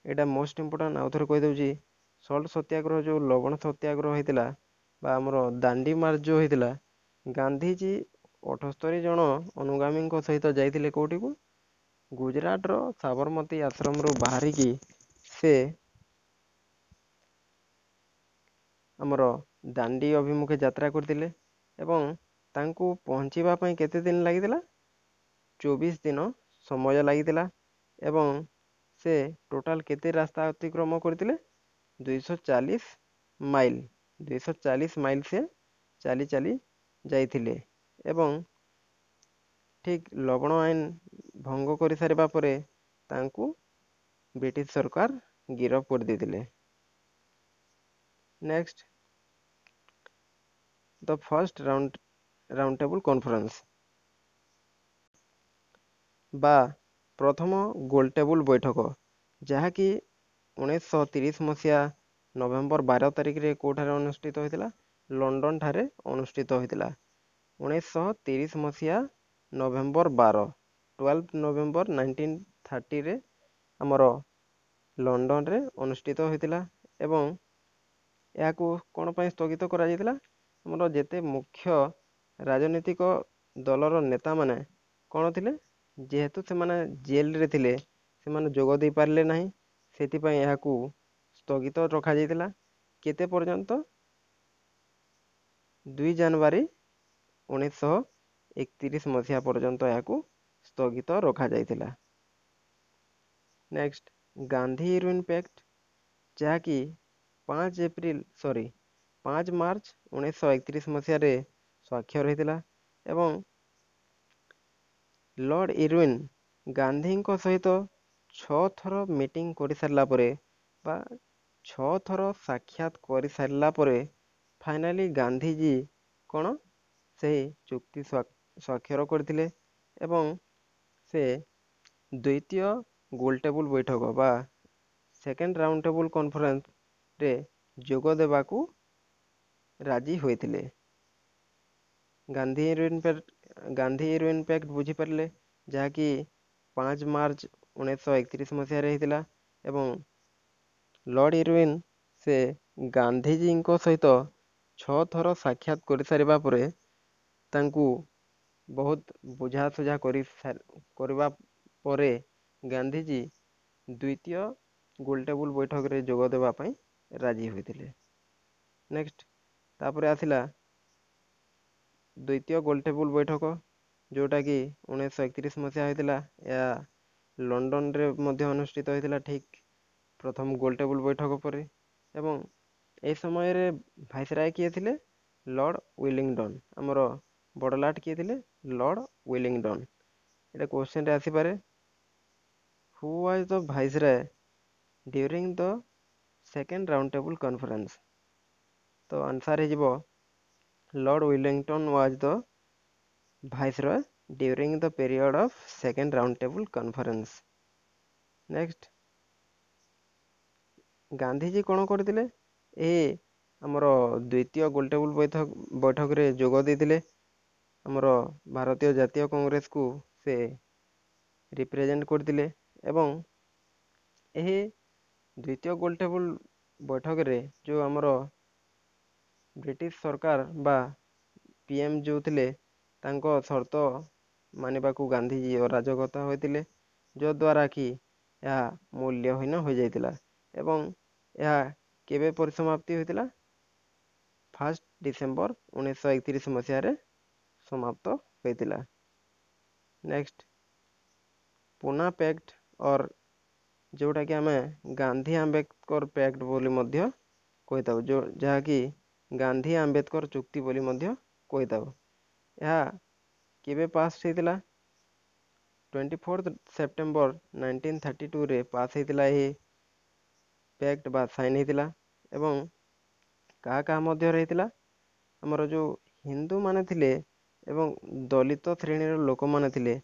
ଏଇଟା ମୋଷ୍ଟ ଇମ୍ପୋର୍ଟାଣ୍ଟ। ଆଉ ଥରେ କହିଦେଉଛି, ସଲ୍ଟ ସତ୍ୟାଗ୍ରହ ଯେଉଁ ଲବଣ ସତ୍ୟାଗ୍ରହ ହେଇଥିଲା ବା ଆମର ଦାଣ୍ଡି ମାର୍ଚ୍ଚ ଯେଉଁ ହେଇଥିଲା, ଗାନ୍ଧିଜୀ ଅଠସ୍ତରୀ ଜଣ ଅନୁଗାମୀଙ୍କ ସହିତ ଯାଇଥିଲେ କେଉଁଠିକୁ? ଗୁଜରାଟର ସାବରମତୀ ଆଶ୍ରମରୁ ବାହାରିକି ସେ ଆମର ଦାଣ୍ଡି ଅଭିମୁଖେ ଯାତ୍ରା କରିଥିଲେ। ଏବଂ ତାଙ୍କୁ ପହଞ୍ଚିବା ପାଇଁ କେତେ ଦିନ ଲାଗିଥିଲା? ଚବିଶ ଦିନ ସମୟ ଲାଗିଥିଲା। ଏବଂ ସେ ଟୋଟାଲ କେତେ ରାସ୍ତା ଅତିକ୍ରମ କରିଥିଲେ? ଦୁଇଶହ ଚାଳିଶ ମାଇଲ। ଦୁଇଶହ ଚାଳିଶ ମାଇଲ ସେ ଚାଲି ଚାଲି ଯାଇଥିଲେ। ଏବଂ ଠିକ୍ ଲବଣ ଆଇନ ଭଙ୍ଗ କରିସାରିବା ପରେ ତାଙ୍କୁ ବ୍ରିଟିଶ ସରକାର ଗିରଫ କରିଦେଇଥିଲେ। Next, the first round round table conference ବା ପ୍ରଥମ ଗୋଲ ଟେବୁଲ ବୈଠକ, ଯାହାକି ଉଣେଇଶହ ତିରିଶ ମସିହା ନଭେମ୍ବର ବାର ତାରିଖରେ କେଉଁଠାରେ ଅନୁଷ୍ଠିତ ହୋଇଥିଲା? ଲଣ୍ଡନଠାରେ ଅନୁଷ୍ଠିତ ହୋଇଥିଲା। ଉଣେଇଶହ ତିରିଶ ମସିହା ନଭେମ୍ବର ବାର, ଟୁଏଲ୍ଭ ନଭେମ୍ବର ନାଇନଟିନ୍ ଥାର୍ଟିରେ ଆମର ଲଣ୍ଡନରେ ଅନୁଷ୍ଠିତ ହୋଇଥିଲା। ଏବଂ ଏହାକୁ କ'ଣ ପାଇଁ ସ୍ଥଗିତ କରାଯାଇଥିଲା? ଆମର ଯେତେ ମୁଖ୍ୟ ରାଜନୈତିକ ଦଳର ନେତାମାନେ କ'ଣ ଥିଲେ, ଯେହେତୁ ସେମାନେ ଜେଲରେ ଥିଲେ, ସେମାନେ ଯୋଗ ଦେଇପାରିଲେ ନାହିଁ, ସେଥିପାଇଁ ଏହାକୁ ସ୍ଥଗିତ ରଖାଯାଇଥିଲା। କେତେ ପର୍ଯ୍ୟନ୍ତ? ଦୁଇ ଜାନୁଆରୀ ଉଣେଇଶହ ଏକତିରିଶ ମସିହା ପର୍ଯ୍ୟନ୍ତ ଏହାକୁ ସ୍ଥଗିତ ରଖାଯାଇଥିଲା। ନେକ୍ସଟ, ଗାନ୍ଧୀ ଇରୱିନ୍ ପ୍ୟାକ୍ଟ, ଯାହାକି ପାଞ୍ଚ ଏପ୍ରିଲ, ସରି, ପାଞ୍ଚ ମାର୍ଚ୍ଚ ଉଣେଇଶହ ଏକତିରିଶ ମସିହାରେ ସ୍ୱାକ୍ଷର ହୋଇଥିଲା ଏବଂ ଲର୍ଡ଼ ଇରୱିନ୍ ଗାନ୍ଧୀଙ୍କ ସହିତ ଛଅ ଥର ମିଟିଂ କରିସାରିଲା ପରେ ବା ଛଅ ଥର ସାକ୍ଷାତ କରିସାରିଲା ପରେ ଫାଇନାଲି ଗାନ୍ଧିଜୀ କ'ଣ ସେହି ଚୁକ୍ତି ସ୍ୱାକ୍ଷର କରିଥିଲେ ଏବଂ ସେ ଦ୍ୱିତୀୟ ଗୋଲ ଟେବୁଲ ବୈଠକ ବା ସେକେଣ୍ଡ ରାଉଣ୍ଡ ଟେବୁଲ କନଫରେନ୍ସରେ ଯୋଗ ଦେବାକୁ ରାଜି ହୋଇଥିଲେ। Gandhi Irwin Gandhi Irwin pact ବୁଝିପାରିଲେ, ଯାହାକି ପାଞ୍ଚ ମାର୍ଚ୍ଚ ଉଣେଇଶହ ଏକତିରିଶ ମସିହାରେ ହେଇଥିଲା ଏବଂ ଲର୍ଡ଼ ଇରୱିନ୍ ସେ ଗାନ୍ଧିଜୀଙ୍କ ସହିତ ଛଅ ଥର ସାକ୍ଷାତ କରିସାରିବା ପରେ, ତାଙ୍କୁ ବହୁତ ବୁଝାସୁଝା କରି କରିବା ପରେ ଗାନ୍ଧିଜୀ ଦ୍ୱିତୀୟ ଗୋଲଟେବୁଲ ବୈଠକରେ ଯୋଗ ଦେବା ପାଇଁ ରାଜି ହୋଇଥିଲେ। ନେକ୍ସଟ, ତାପରେ ଆସିଲା ଦ୍ୱିତୀୟ ଗୋଲଟେବୁଲ ବୈଠକ, ଯେଉଁଟାକି ଉଣେଇଶହ ଏକତିରିଶ ମସିହା ହୋଇଥିଲା। ଏହା ଲଣ୍ଡନରେ ମଧ୍ୟ ଅନୁଷ୍ଠିତ ହୋଇଥିଲା, ଠିକ୍ ପ୍ରଥମ ଗୋଲଟେବୁଲ ବୈଠକ ପରେ। ଏବଂ ଏହି ସମୟରେ ଭାଇସରାୟ କିଏ ଥିଲେ? ଲର୍ଡ଼ ୱିଲିଂଡନ୍। ଆମର ବଡ଼ଲାଟ କିଏ ଥିଲେ? ଲର୍ଡ଼ ୱିଲିଂଡନ୍। ଏଇଟା କ୍ୱେଶ୍ଚନରେ ଆସିପାରେ, who was the viceroy during the second round table conference? ତ ଆନ୍ସର୍ ହେଇଯିବ, Lord Willingdon was the viceroy during the period of second round table conference. Next, Gandhiji କ'ଣ କରିଥିଲେ? ଏ ଆମର ଦ୍ୱିତୀୟ ଗୋଲଟେବୁଲ ବୈଠକ ବୈଠକରେ ଯୋଗ ଦେଇଥିଲେ। ଆମର ଭାରତୀୟ ଜାତୀୟ କଂଗ୍ରେସକୁ ସେ ରିପ୍ରେଜେଣ୍ଟ କରିଥିଲେ ଏବଂ ଏହି ଦ୍ୱିତୀୟ ଗୋଲଟେବୁଲ ବୈଠକରେ ଯେଉଁ ଆମର ବ୍ରିଟିଶ ସରକାର ବା ପି ଏମ୍ ଯେଉଁ ଥିଲେ, ତାଙ୍କ ସର୍ତ୍ତ ମାନିବାକୁ ଗାନ୍ଧିଜୀ ଅରାଜକତା ହୋଇଥିଲେ, ଯଦ୍ୱାରା କି ଏହା ମୂଲ୍ୟହୀନ ହୋଇଯାଇଥିଲା। ଏବଂ ଏହା କେବେ ପରିସମାପ୍ତି ହୋଇଥିଲା? ଫାର୍ଷ୍ଟ ଡିସେମ୍ବର ଉଣେଇଶହ ଏକତିରିଶ ମସିହାରେ ସମାପ୍ତ ହୋଇଥିଲା। ନେକ୍ସଟ, ପୁନା ପ୍ୟାକ୍ଟ ଅର୍ ଯେଉଁଟାକି ଆମେ ଗାନ୍ଧୀ ଆମ୍ବେଦକର ପ୍ୟାକ୍ଟ ବୋଲି ମଧ୍ୟ କହିଥାଉ, ଯେଉଁ ଯାହାକି ଗାନ୍ଧୀ ଆମ୍ବେଦକର ଚୁକ୍ତି ବୋଲି ମଧ୍ୟ କହିଥାଉ, ଏହା କେବେ ପାସ୍ ହେଇଥିଲା? Twenty fourth September nineteen thirty ଟୁରେ ପାସ୍ ହେଇଥିଲା ଏହି ପ୍ୟାକ୍ଟ ବା ସାଇନ୍ ହେଇଥିଲା। ଏବଂ କାହା କାହା ମଧ୍ୟରେ ହେଇଥିଲା? ଆମର ଯେଉଁ ହିନ୍ଦୁମାନେ ଥିଲେ ଏବଂ ଦଳିତ ଶ୍ରେଣୀର ଲୋକମାନେ ଥିଲେ,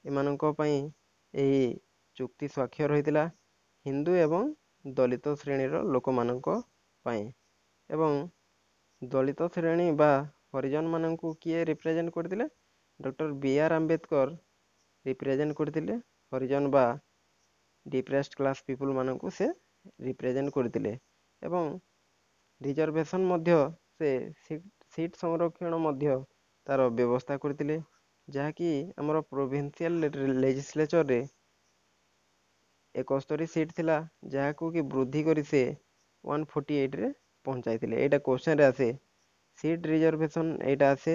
ଏମାନଙ୍କ ପାଇଁ ଏହି ଚୁକ୍ତି ସ୍ୱାକ୍ଷର ହୋଇଥିଲା, ହିନ୍ଦୁ ଏବଂ ଦଳିତ ଶ୍ରେଣୀର ଲୋକମାନଙ୍କ ପାଇଁ। ଏବଂ ଦଳିତ ଶ୍ରେଣୀ ବା ହରିଜନମାନଙ୍କୁ କିଏ ରିପ୍ରେଜେଣ୍ଟ କରିଥିଲେ? ଡକ୍ଟର ବି ଆର୍ ଆମ୍ବେଦକର ରିପ୍ରେଜେଣ୍ଟ କରିଥିଲେ। ହରିଜନ ବା ଡିପ୍ରେସ୍ଡ କ୍ଲାସ୍ ପିପୁଲମାନଙ୍କୁ ସେ ରିପ୍ରେଜେଣ୍ଟ କରିଥିଲେ ଏବଂ ରିଜର୍ଭେସନ୍ ମଧ୍ୟ ସେ ସିଟ୍ ସଂରକ୍ଷଣ ମଧ୍ୟ ତା'ର ବ୍ୟବସ୍ଥା କରିଥିଲେ, ଯାହାକି ଆମର ପ୍ରୋଭିନ୍ସିଆଲ ଲେଜିସ୍ଲେଚରରେ ଏକସ୍ତରୀ ସିଟ୍ ଥିଲା, ଯାହାକୁ କି ବୃଦ୍ଧି କରି ସେ ୱାନ୍ ଫୋର୍ଟି ଏଇଟରେ ପହଞ୍ଚାଇଥିଲେ। ଏଇଟା କ୍ୱେଶ୍ଚନରେ ଆସେ, ସିଟ୍ ରିଜର୍ଭେସନ୍ ଏଇଟା ଆସେ।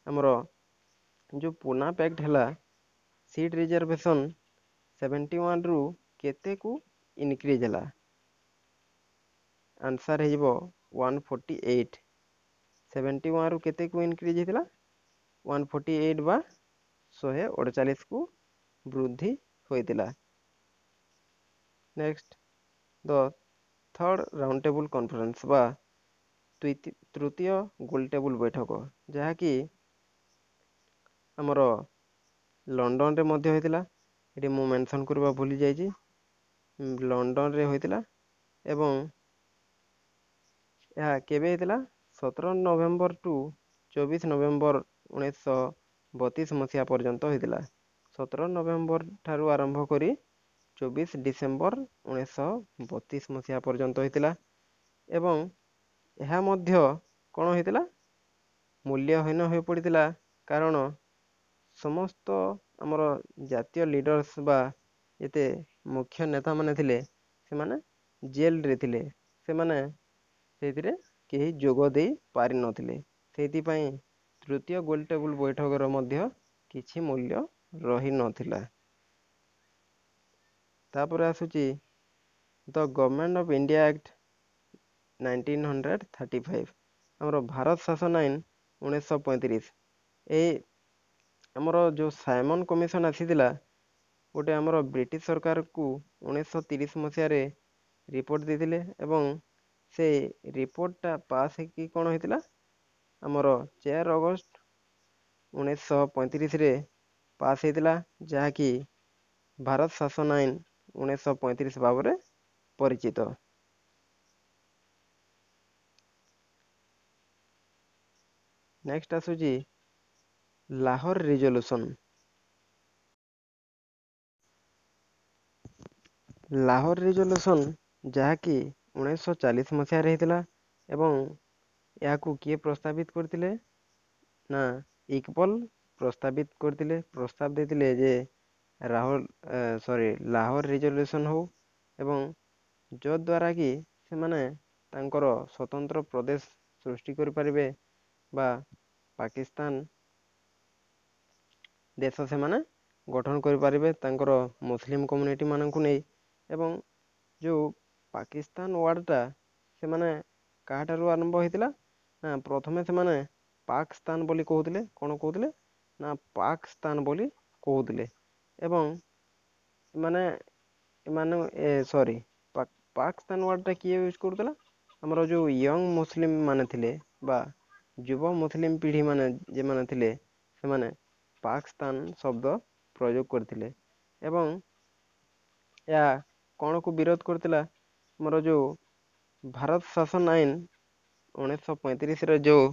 ଆମର ଯେଉଁ ପୁନା ପ୍ୟାକ୍ଟ ହେଲା, ସିଟ୍ ରିଜର୍ଭେସନ୍ ସେଭେଣ୍ଟି ୱାନ୍ରୁ କେତେକୁ ଇନକ୍ରିଜ୍ ହେଲା? ଆନ୍ସର୍ ହେଇଯିବ ୱାନ୍ ଫୋର୍ଟି ଏଇଟ୍। ସେଭେଣ୍ଟି ୱାନ୍ରୁ କେତେକୁ ଇନକ୍ରିଜ୍ ହେଇଥିଲା? ୱାନ୍ ଫୋର୍ଟି ଏଇଟ୍ ବା ଶହେ ଅଡ଼ଚାଳିଶକୁ ବୃଦ୍ଧି ହୋଇଥିଲା। Next, the third round table conference ବା ତୃତୀୟ ଗୋଲ ଟେବୁଲ ବୈଠକ, ଯାହାକି ଆମର ଲଣ୍ଡନରେ ମଧ୍ୟ ହୋଇଥିଲା। ଏଠି ମୁଁ ମେନସନ୍ କରିବା ଭୁଲି ଯାଇଛି, ଲଣ୍ଡନରେ ହୋଇଥିଲା ଏବଂ ଏହା କେବେ ହେଇଥିଲା? ସତର ନଭେମ୍ବର ଟୁ ଚବିଶ ନଭେମ୍ବର ଉଣେଇଶହ ବତିଶ ମସିହା ପର୍ଯ୍ୟନ୍ତ ହେଇଥିଲା। ସତର ନଭେମ୍ବର ଠାରୁ ଆରମ୍ଭ କରି ଚବିଶ ଡିସେମ୍ବର ଉଣେଇଶହ ବତିଶ ମସିହା ପର୍ଯ୍ୟନ୍ତ ହେଇଥିଲା। ଏବଂ ଏହା ମଧ୍ୟ କ'ଣ ହେଇଥିଲା? ମୂଲ୍ୟହୀନ ହୋଇପଡ଼ିଥିଲା, କାରଣ ସମସ୍ତ ଆମର ଜାତୀୟ ଲିଡର୍ସ ବା ଯେତେ ମୁଖ୍ୟ ନେତାମାନେ ଥିଲେ, ସେମାନେ ଜେଲରେ ଥିଲେ। ସେମାନେ ସେଇଥିରେ କେହି ଯୋଗ ଦେଇ ପାରିନଥିଲେ। ସେଇଥିପାଇଁ ତୃତୀୟ ଗୋଲ ଟେବୁଲ ବୈଠକର ମଧ୍ୟ କିଛି ମୂଲ୍ୟ ରହିନଥିଲା। ତାପରେ ଆସୁଛି the government of India act nineteen hundred thirty five, ଆମର ଭାରତ ଶାସନ ଆଇନ ଉଣେଇଶହ ପଇଁତିରିଶ। ଏଇ ଆମର ଯେଉଁ ସାଇମନ୍ କମିଶନ ଆସିଥିଲା ଗୋଟେ, ଆମର ବ୍ରିଟିଶ ସରକାରକୁ ଉଣେଇଶହ ତିରିଶ ମସିହାରେ ରିପୋର୍ଟ ଦେଇଥିଲେ, ଏବଂ ସେ ରିପୋର୍ଟଟା ପାସ୍ ହେଇକି କ'ଣ ହେଇଥିଲା? ଆମର ଚାରି ଅଗଷ୍ଟ ଉଣେଇଶହ ପଇଁତିରିଶରେ ପାସ୍ ହେଇଥିଲା, ଯାହାକି ଭାରତ ଶାସନ ଆଇନ ଉଣେଇଶହ ପଇଁତିରିଶ ଭାବରେ ପରିଚିତ। ନେକ୍ସଟ ଆସୁଛି ଲାହୋର ରିଜଲ୍ୟୁସନ୍। ଲାହୋର ରିଜଲ୍ୟୁସନ୍ ଯାହାକି ଉଣେଇଶହ ଚାଳିଶ ମସିହାରେ ହେଇଥିଲା, ଏବଂ ଏହାକୁ କିଏ ପ୍ରସ୍ତାବିତ କରିଥିଲେ? ନା, ଇକବଲ ପ୍ରସ୍ତାବିତ କରିଥିଲେ, ପ୍ରସ୍ତାବ ଦେଇଥିଲେ ଯେ ରାହୁଲ ସରି ଲାହୋର ରିଜଲ୍ୟୁସନ୍ ହଉ, ଏବଂ ଯଦ୍ୱାରା କି ସେମାନେ ତାଙ୍କର ସ୍ୱତନ୍ତ୍ର ପ୍ରଦେଶ ସୃଷ୍ଟି କରିପାରିବେ ବା ପାକିସ୍ତାନ ଦେଶ ସେମାନେ ଗଠନ କରିପାରିବେ ତାଙ୍କର ମୁସଲିମ କମ୍ୟୁନିଟି ମାନଙ୍କୁ ନେଇ। ଏବଂ ଯେଉଁ ପାକିସ୍ତାନ ୱାର୍ଡ଼ଟା ସେମାନେ କାହାଠାରୁ ଆରମ୍ଭ ହେଇଥିଲା? ନା, ପ୍ରଥମେ ସେମାନେ ପାକସ୍ତାନ ବୋଲି କହୁଥିଲେ। କ'ଣ କହୁଥିଲେ? ନା, ପାକସ୍ତାନ ବୋଲି କହୁଥିଲେ। ଏବଂ ଏମାନେ ଏମାନେ ଏ ସରି ପାକିସ୍ତାନ ୱାର୍ଡ଼ଟା କିଏ ୟୁଜ୍ କରୁଥିଲା? ଆମର ଯେଉଁ ୟଙ୍ଗ ମୁସଲିମ ମାନେ ଥିଲେ ବା ଯୁବ ମୁସଲିମ ପିଢ଼ି ମାନେ ଯେଉଁମାନେ ଥିଲେ, ସେମାନେ ପାକିସ୍ତାନ ଶବ୍ଦ ପ୍ରୟୋଗ କରିଥିଲେ। ଏବଂ ଏହା କ'ଣକୁ ବିରୋଧ କରିଥିଲା? ଆମର ଯେଉଁ ଭାରତ ଶାସନ ଆଇନ ଉଣେଇଶହ ପଇଁତିରିଶରେ ଯେଉଁ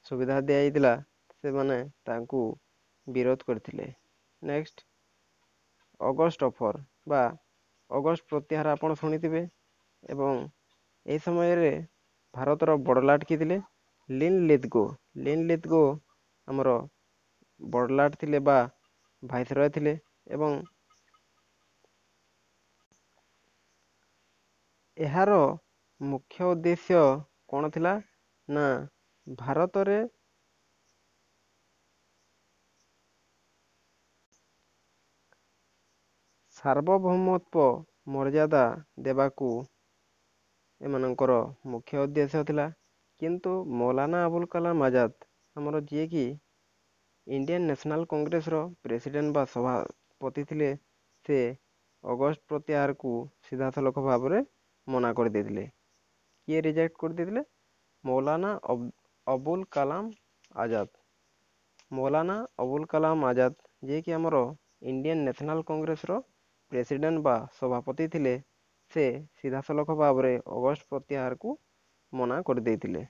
ସୁବିଧା ଦିଆଯାଇଥିଲା, ସେମାନେ ତାଙ୍କୁ ବିରୋଧ କରିଥିଲେ। ନେକ୍ସଟ, ଅଗଷ୍ଟ ଅଫର ବା ଅଗଷ୍ଟ ପ୍ରତ୍ୟାହାର ଆପଣ ଶୁଣିଥିବେ। ଏବଂ ଏହି ସମୟରେ ଭାରତର ବଡ଼ଲାଟ କିଏ ଥିଲେ? ଲିନ୍ ଲିଥଗୋ। ଲିନ୍ ଲିଥଗୋ ଆମର ବଡ଼ଲାଟ ଥିଲେ ବା ଭାଇସରୟ ଥିଲେ। ଏବଂ ଏହାର ମୁଖ୍ୟ ଉଦ୍ଦେଶ୍ୟ କ'ଣ ଥିଲା? ନା, ଭାରତରେ ସାର୍ବଭୌମତ୍ୱ ମର୍ଯ୍ୟାଦା ଦେବାକୁ ଏମାନଙ୍କର ମୁଖ୍ୟ ଉଦ୍ଦେଶ୍ୟ ଥିଲା। କିନ୍ତୁ ମୌଲାନା ଆବୁଲ କାଲାମ ଆଜାଦ ଆମର, ଯିଏକି ଇଣ୍ଡିଆନ୍ ନ୍ୟାସନାଲ୍ କଂଗ୍ରେସର ପ୍ରେସିଡେଣ୍ଟ ବା ସଭାପତି ଥିଲେ, ସେ ଅଗଷ୍ଟ ପ୍ରତ୍ୟାହାରକୁ ସିଧାସଳଖ ଭାବରେ ମନା କରିଦେଇଥିଲେ। କିଏ ରିଜେକ୍ଟ କରିଦେଇଥିଲେ? ମୌଲାନା ଅବୁଲ କାଲାମ ଆଜାଦ। ମୌଲାନା ଅବୁଲ କାଲାମ ଆଜାଦ, ଯିଏକି ଆମର ଇଣ୍ଡିଆନ୍ ନ୍ୟାସନାଲ୍ କଂଗ୍ରେସର ପ୍ରେସିଡେଣ୍ଟ ବା ସଭାପତି ଥିଲେ, ସେ ସିଧାସଳଖ ଭାବରେ ଅଗଷ୍ଟ ପ୍ରତ୍ୟାହାରକୁ ମନା କରିଦେଇଥିଲେ।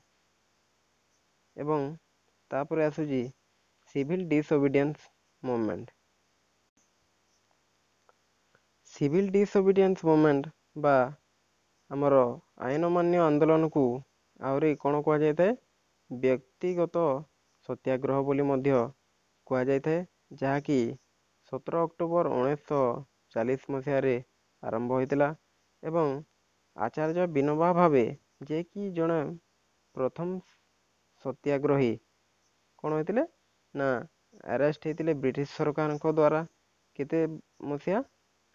ଏବଂ ତାପରେ ଆସୁଛି ସିଭିଲ୍ ଡିସଓବିଡ଼ିଏନ୍ସ ମୁଭମେଣ୍ଟ। ସିଭିଲ୍ ଡିସଓବିଡ଼ିଏନ୍ସ ମୁଭମେଣ୍ଟ ବା ଆମର ଆଇନ ଅମାନ୍ୟ ଆନ୍ଦୋଳନକୁ ଆହୁରି କ'ଣ କୁହାଯାଇଥାଏ? ବ୍ୟକ୍ତିଗତ ସତ୍ୟାଗ୍ରହ ବୋଲି ମଧ୍ୟ କୁହାଯାଇଥାଏ, ଯାହାକି ସତର ଅକ୍ଟୋବର ଉଣେଇଶହ ଚାଳିଶ ମସିହାରେ ଆରମ୍ଭ ହୋଇଥିଲା। ଏବଂ ଆଚାର୍ଯ୍ୟ ବିନୋବା ଭାବେ, ଯିଏକି ଜଣେ ପ୍ରଥମ ସତ୍ୟାଗ୍ରହୀ, କ'ଣ ହେଇଥିଲେ? ନା, ଆରେଷ୍ଟ ହେଇଥିଲେ ବ୍ରିଟିଶ ସରକାରଙ୍କ ଦ୍ୱାରା। କେତେ ମସିହା?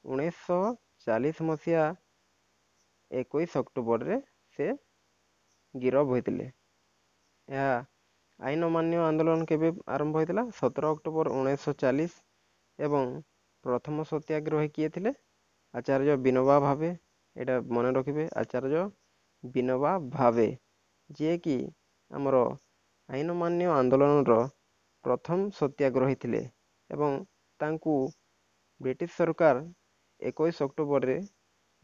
ଉଣେଇଶହ ଚାଳିଶ ମସିହା ଏକୋଇଶ ଅକ୍ଟୋବରରେ ସେ ଗିରଫ ହୋଇଥିଲେ। ଏହା ଆଇନ ଅମାନ୍ୟ ଆନ୍ଦୋଳନ କେବେ ଆରମ୍ଭ ହୋଇଥିଲା? ସତର ଅକ୍ଟୋବର ଉଣେଇଶହ ଚାଳିଶ। ଏବଂ ପ୍ରଥମ ସତ୍ୟାଗ୍ରହୀ କିଏ ଥିଲେ? ଆଚାର୍ଯ୍ୟ ବିନୋବା ଭାବେ। ଏଇଟା ମନେ ରଖିବେ, ଆଚାର୍ଯ୍ୟ ବିନୋବା ଭାବେ, ଯିଏକି ଆମର ଆଇନ ଅମାନ୍ୟ ଆନ୍ଦୋଳନର ପ୍ରଥମ ସତ୍ୟାଗ୍ରହୀ ଥିଲେ, ଏବଂ ତାଙ୍କୁ ବ୍ରିଟିଶ ସରକାର ଏକୋଇଶ ଅକ୍ଟୋବରରେ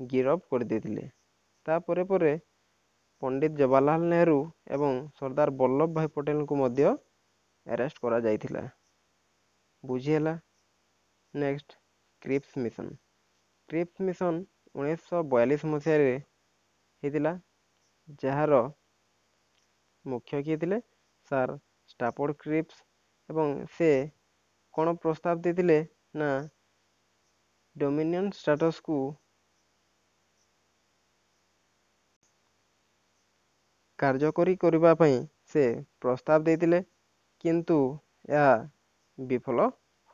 ଗିରଫ କରିଦେଇଥିଲେ। ତାପରେ ପରେ ପଣ୍ଡିତ ଜବାହରଲାଲ ନେହେରୁ ଏବଂ ସର୍ଦ୍ଦାର ବଲ୍ଲଭ ଭାଇ ପଟେଲଙ୍କୁ ମଧ୍ୟ ଆରେଷ୍ଟ କରାଯାଇଥିଲା। ବୁଝିହେଲା? Next, Cripps mission. Cripps mission ଉଣେଇଶହ ବୟାଳିଶ ମସିହାରେ ହେଇଥିଲା, ଯାହାର ମୁଖ୍ୟ କିଏ ଥିଲେ? Sir Stafford Cripps. ଏବଂ ସେ କ'ଣ ପ୍ରସ୍ତାବ ଦେଇଥିଲେ ନା ଡୋମିନିୟନ ଷ୍ଟାଟସକୁ କାର୍ଯ୍ୟକାରୀ କରିବା ପାଇଁ ସେ ପ୍ରସ୍ତାବ ଦେଇଥିଲେ, କିନ୍ତୁ ଏହା ବିଫଳ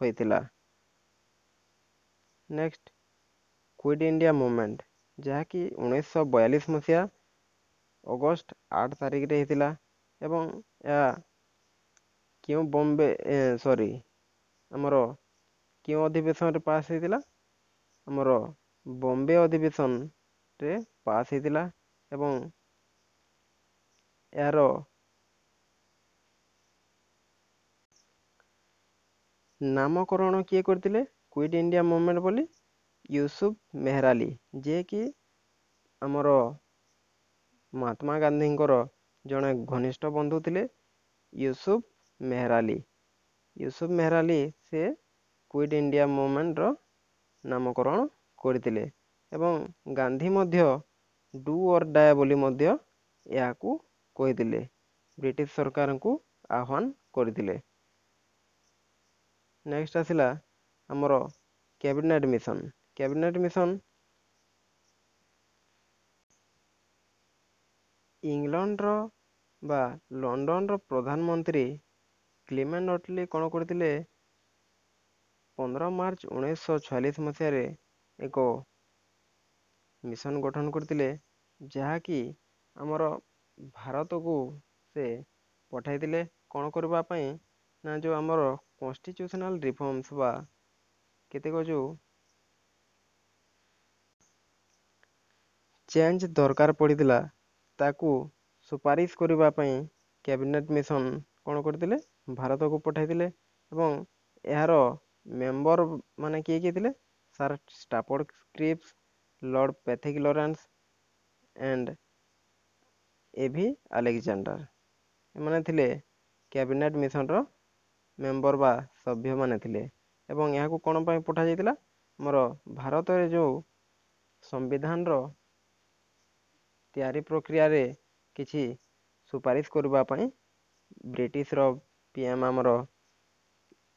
ହୋଇଥିଲା। ନେକ୍ସଟ, କ୍ୱିଟ୍ ଇଣ୍ଡିଆ ମୁଭମେଣ୍ଟ, ଯାହାକି ଉଣେଇଶହ ବୟାଳିଶ ମସିହା ଅଗଷ୍ଟ ଆଠ ତାରିଖରେ ହେଇଥିଲା ଏବଂ ଏହା କେଉଁ ବମ୍ବେ ସରି ଆମର କେଉଁ ଅଧିବେଶନରେ ପାସ୍ ହେଇଥିଲା? ଆମର ବମ୍ବେ ଅଧିବେଶନରେ ପାସ୍ ହେଇଥିଲା। ଏବଂ ଏହାର ନାମକରଣ କିଏ କରିଥିଲେ କ୍ୱିଟ୍ ଇଣ୍ଡିଆ ମୁଭମେଣ୍ଟ ବୋଲି? ୟୁସୁଫ ମେହରାଲି, ଯିଏକି ଆମର ମହାତ୍ମା ଗାନ୍ଧୀଙ୍କର ଜଣେ ଘନିଷ୍ଠ ବନ୍ଧୁ ଥିଲେ। ୟୁସୁଫ ମେହରାଲି, ୟୁସୁଫ ମେହରାଲି ସେ କ୍ୱିଟ୍ ଇଣ୍ଡିଆ ମୁଭମେଣ୍ଟର ନାମକରଣ କରିଥିଲେ ଏବଂ ଗାନ୍ଧୀ ମଧ୍ୟ ଡୁ ଅର୍ ଡାଏ ବୋଲି ମଧ୍ୟ ଏହାକୁ କହିଥିଲେ, ବ୍ରିଟିଶ ସରକାରଙ୍କୁ ଆହ୍ୱାନ କରିଥିଲେ। ନେକ୍ସଟ ଆସିଲା ଆମର କ୍ୟାବିନେଟ୍ ମିଶନ। କ୍ୟାବିନେଟ୍ ମିଶନ ଇଂଲଣ୍ଡର ବା ଲଣ୍ଡନର ପ୍ରଧାନମନ୍ତ୍ରୀ କ୍ଲିମେଣ୍ଟ ଅଟଲି କ'ଣ କରିଥିଲେ? ପନ୍ଦର ମାର୍ଚ୍ଚ ଉଣେଇଶହ ଛୟାଳିଶ ମସିହାରେ ଏକ ମିଶନ ଗଠନ କରିଥିଲେ, ଯାହାକି ଆମର ଭାରତକୁ ସେ ପଠାଇଥିଲେ କ'ଣ କରିବା ପାଇଁ ନା ଯେଉଁ ଆମର କନଷ୍ଟିଚ୍ୟୁସନାଲ ରିଫର୍ମସ ବା କେତେକ ଯେଉଁ ଚେଞ୍ଜ ଦରକାର ପଡ଼ିଥିଲା ତାକୁ ସୁପାରିଶ କରିବା ପାଇଁ କ୍ୟାବିନେଟ୍ ମିଶନ କ'ଣ କରିଥିଲେ? ଭାରତକୁ ପଠାଇଥିଲେ। ଏବଂ ଏହାର ମେମ୍ବର ମାନେ କିଏ କିଏ ଥିଲେ? Sir Stafford Cripps, lord Pethick Lawrence and A V Alexander. ଏମାନେ ଥିଲେ କ୍ୟାବିନେଟ୍ ମିଶନର ମେମ୍ବର ବା ସଭ୍ୟମାନେ ଥିଲେ। ଏବଂ ଏହାକୁ କ'ଣ ପାଇଁ ପଠାଯାଇଥିଲା? ଆମର ଭାରତରେ ଯେଉଁ ସମ୍ବିଧାନର ତିଆରି ପ୍ରକ୍ରିୟାରେ କିଛି ସୁପାରିଶ କରିବା ପାଇଁ ବ୍ରିଟିଶର ପି ଏମ୍ ଆମର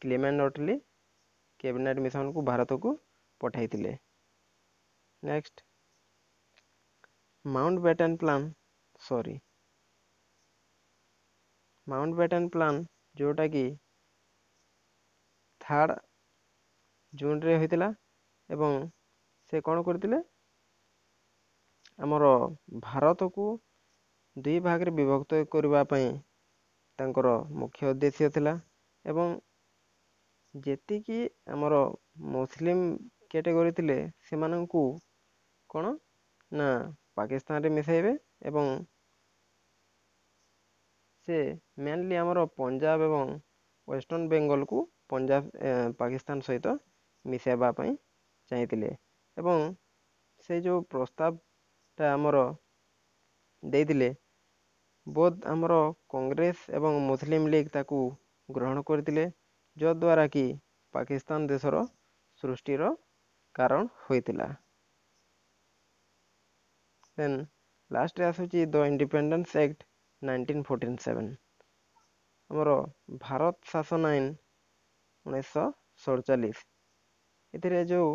କ୍ଲିମେଣ୍ଟ ଅଟଲି କ୍ୟାବିନେଟ୍ ମିଶନକୁ ଭାରତକୁ ପଠାଇଥିଲେ। Next, Mountbatten plan, sorry Mountbatten plan ଯେଉଁଟାକି ଥାର୍ଡ଼ ଜୁନରେ ହୋଇଥିଲା ଏବଂ ସେ କ'ଣ କରିଥିଲେ? ଆମର ଭାରତକୁ ଦୁଇ ଭାଗରେ ବିଭକ୍ତ କରିବା ପାଇଁ ତାଙ୍କର ମୁଖ୍ୟ ଉଦ୍ଦେଶ୍ୟ ଥିଲା। ଏବଂ ଯେତିକି ଆମର ମୁସଲିମ କ୍ୟାଟେଗୋରୀ ଥିଲେ ସେମାନଙ୍କୁ କ'ଣ ନା ପାକିସ୍ତାନରେ ମିଶାଇବେ ଏବଂ ସେ ମେନଲି ଆମର ପଞ୍ଜାବ ଏବଂ ୱେଷ୍ଟର୍ଣ୍ଣ ବେଙ୍ଗଲକୁ ପଞ୍ଜାବ ପାକିସ୍ତାନ ସହିତ ମିଶାଇବା ପାଇଁ ଚାହିଁଥିଲେ। ଏବଂ ସେ ଯେଉଁ ପ୍ରସ୍ତାବଟା ଆମର ଦେଇଥିଲେ, ବୋଥ ଆମର କଂଗ୍ରେସ ଏବଂ ମୁସଲିମ ଲିଗ୍ ତାକୁ ଗ୍ରହଣ କରିଥିଲେ, ଯଦ୍ୱାରା କି ପାକିସ୍ତାନ ଦେଶର ସୃଷ୍ଟିର କାରଣ ହୋଇଥିଲା। ଦେନ୍ ଲାଷ୍ଟରେ ଆସୁଛି the independence act nineteen forty seven, ଆମର ଭାରତ ଶାସନ ଆଇନ ଉଣେଇଶହ ସଡ଼ଚାଳିଶ। ଏଥିରେ ଯେଉଁ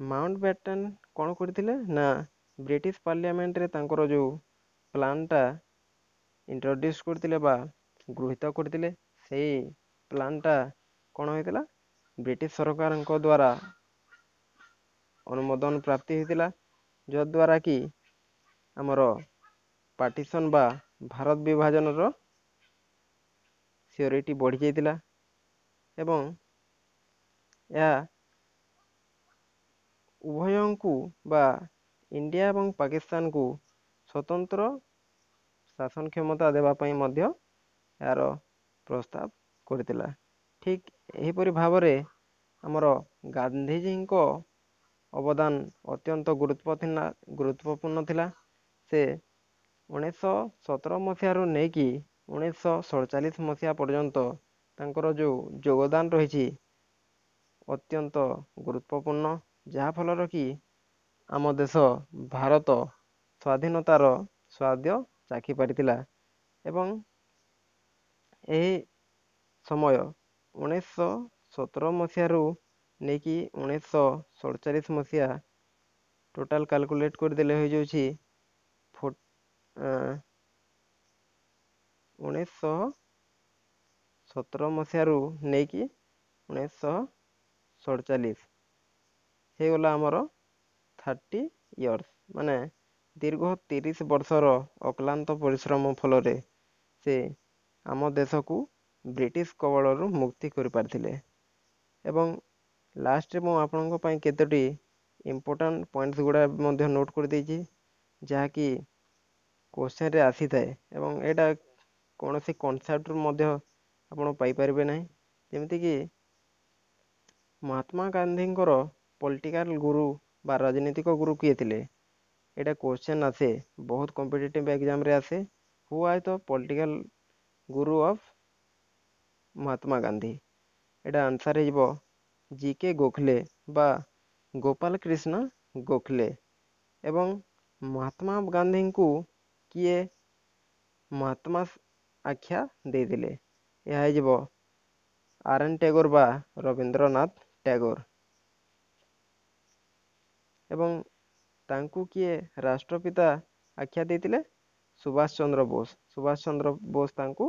ମାଉଣ୍ଟ ବ୍ୟାଟେନ୍ କ'ଣ କରିଥିଲେ ନା ବ୍ରିଟିଶ ପାର୍ଲିଆମେଣ୍ଟରେ ତାଙ୍କର ଯେଉଁ ପ୍ଲାନ୍ଟା ଇଣ୍ଟ୍ରୋଡ୍ୟୁସ୍ କରିଥିଲେ ବା ଗୃହୀତ କରିଥିଲେ, ସେଇ ପ୍ଲାନ୍ଟା କ'ଣ ହେଇଥିଲା? ବ୍ରିଟିଶ ସରକାରଙ୍କ ଦ୍ୱାରା ଅନୁମୋଦନ ପ୍ରାପ୍ତି ହେଇଥିଲା, ଯଦ୍ୱାରା କି ଆମର ପାର୍ଟିସନ୍ ବା ଭାରତ ବିଭାଜନର ସିଓରିଟି ବଢ଼ିଯାଇଥିଲା। ଏବଂ ଏହା ଉଭୟଙ୍କୁ ବା ଇଣ୍ଡିଆ ଏବଂ ପାକିସ୍ତାନକୁ ସ୍ୱତନ୍ତ୍ର ଶାସନ କ୍ଷମତା ଦେବା ପାଇଁ ମଧ୍ୟ ଏହାର ପ୍ରସ୍ତାବ କରିଥିଲା। ଠିକ୍ ଏହିପରି ଭାବରେ ଆମର ଗାନ୍ଧିଜୀଙ୍କ ଅବଦାନ ଅତ୍ୟନ୍ତ ଗୁରୁତ୍ୱ ଗୁରୁତ୍ୱପୂର୍ଣ୍ଣ ଥିଲା। ସେ ଉଣେଇଶହ ସତର ମସିହାରୁ ନେଇକି ଉଣେଇଶହ ସଡ଼ଚାଳିଶ ମସିହା ପର୍ଯ୍ୟନ୍ତ ତାଙ୍କର ଯେଉଁ ଯୋଗଦାନ ରହିଛି ଅତ୍ୟନ୍ତ ଗୁରୁତ୍ୱପୂର୍ଣ୍ଣ, ଯାହାଫଳରେ କି ଆମ ଦେଶ ଭାରତ ସ୍ୱାଧୀନତାର ସ୍ୱାଦ ଚାଖି ପାରିଥିଲା। ଏବଂ ଏହି ସମୟ ଉଣେଇଶହ ସତର ମସିହାରୁ ନେଇକି ଉଣେଇଶହ ସଡ଼ଚାଳିଶ ମସିହା ଟୋଟାଲ୍ କାଲକୁଲେଟ୍ କରିଦେଲେ ହୋଇଯାଉଛି ଉଣେଇଶହ ସତର ମସିହାରୁ ନେଇକି ଉଣେଇଶହ ସଡ଼ଚାଳିଶ ହେଇଗଲା ଆମର ଥାର୍ଟି ଇୟର୍ସ, ମାନେ ଦୀର୍ଘ ତିରିଶ ବର୍ଷର ଅକ୍ଲାନ୍ତ ପରିଶ୍ରମ ଫଳରେ ସେ ଆମ ଦେଶକୁ ବ୍ରିଟିଶ କବଳରୁ ମୁକ୍ତି କରିପାରିଥିଲେ। ଏବଂ ଲାଷ୍ଟରେ ମୁଁ ଆପଣଙ୍କ ପାଇଁ କେତୋଟି ଇମ୍ପୋର୍ଟାଣ୍ଟ ପଏଣ୍ଟସ୍ ଗୁଡ଼ା ମଧ୍ୟ ନୋଟ୍ କରିଦେଇଛି, ଯାହାକି କୋଶ୍ଚେନ୍ରେ ଆସିଥାଏ ଏବଂ ଏଇଟା କୌଣସି କନସେପ୍ଟରୁ ମଧ୍ୟ ଆପଣ ପାଇପାରିବେ ନାହିଁ। ଯେମିତିକି ମହାତ୍ମା ଗାନ୍ଧୀଙ୍କର ପଲିଟିକାଲ ଗୁରୁ ବା ରାଜନୈତିକ ଗୁରୁ କିଏ ଥିଲେ? ଏଇଟା କୋଶ୍ଚେନ୍ ଆସେ, ବହୁତ କମ୍ପିଟେଟିଭ୍ ଏକ୍ଜାମ୍ରେ ଆସେ। Who are the political guru of Mahatma Gandhi? ଏଇଟା ଆନ୍ସର୍ ହେଇଯିବ ଜି କେ ଗୋଖଲେ ବା ଗୋପାଳ କୃଷ୍ଣ ଗୋଖଲେ। ଏବଂ ମହାତ୍ମା ଗାନ୍ଧୀଙ୍କୁ କିଏ ମହାତ୍ମା ଆଖ୍ୟା ଦେଇଥିଲେ? ଏହା ହେଇଯିବ ଆର୍ ଏନ୍ ଟ୍ୟାଗୋର ବା ରବୀନ୍ଦ୍ରନାଥ ଟ୍ୟାଗୋର। ଏବଂ ତାଙ୍କୁ କିଏ ରାଷ୍ଟ୍ରପିତା ଆଖ୍ୟା ଦେଇଥିଲେ? ସୁଭାଷ ଚନ୍ଦ୍ର ବୋଷ। ସୁଭାଷ ଚନ୍ଦ୍ର ବୋଷ ତାଙ୍କୁ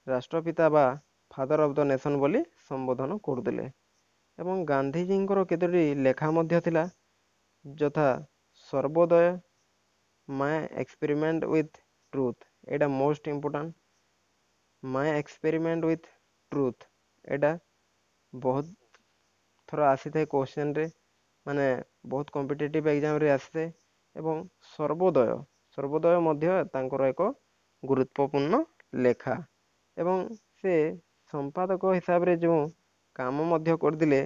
ରାଷ୍ଟ୍ରପିତା ବା ଫାଦର ଅଫ୍ the ନେସନ୍ ବୋଲି ସମ୍ବୋଧନ କରୁଥିଲେ। ଏବଂ ଗାନ୍ଧିଜୀଙ୍କର କେତୋଟି ଲେଖା ମଧ୍ୟ ଥିଲା, ଯଥା ସର୍ବୋଦୟ, ମାଇ ଏକ୍ସପେରିମେଣ୍ଟ ୱିଥ୍ ଟ୍ରୁଥ୍, ଏଇଟା most important, my experiment with truth, ଏଇଟା ବହୁତ ଥର ଆସିଥାଏ କୋଶ୍ଚେନ୍ରେ, ମାନେ ବହୁତ କମ୍ପିଟେଟିଭ୍ ଏକ୍ଜାମ୍ରେ ଆସିଥାଏ। ଏବଂ ସର୍ବୋଦୟ, ସର୍ବୋଦୟ ମଧ୍ୟ ତାଙ୍କର ଏକ ଗୁରୁତ୍ୱପୂର୍ଣ୍ଣ ଲେଖା। ଏବଂ ସେ ସମ୍ପାଦକ ହିସାବରେ ଯେଉଁ କାମ ମଧ୍ୟ କରିଥିଲେ,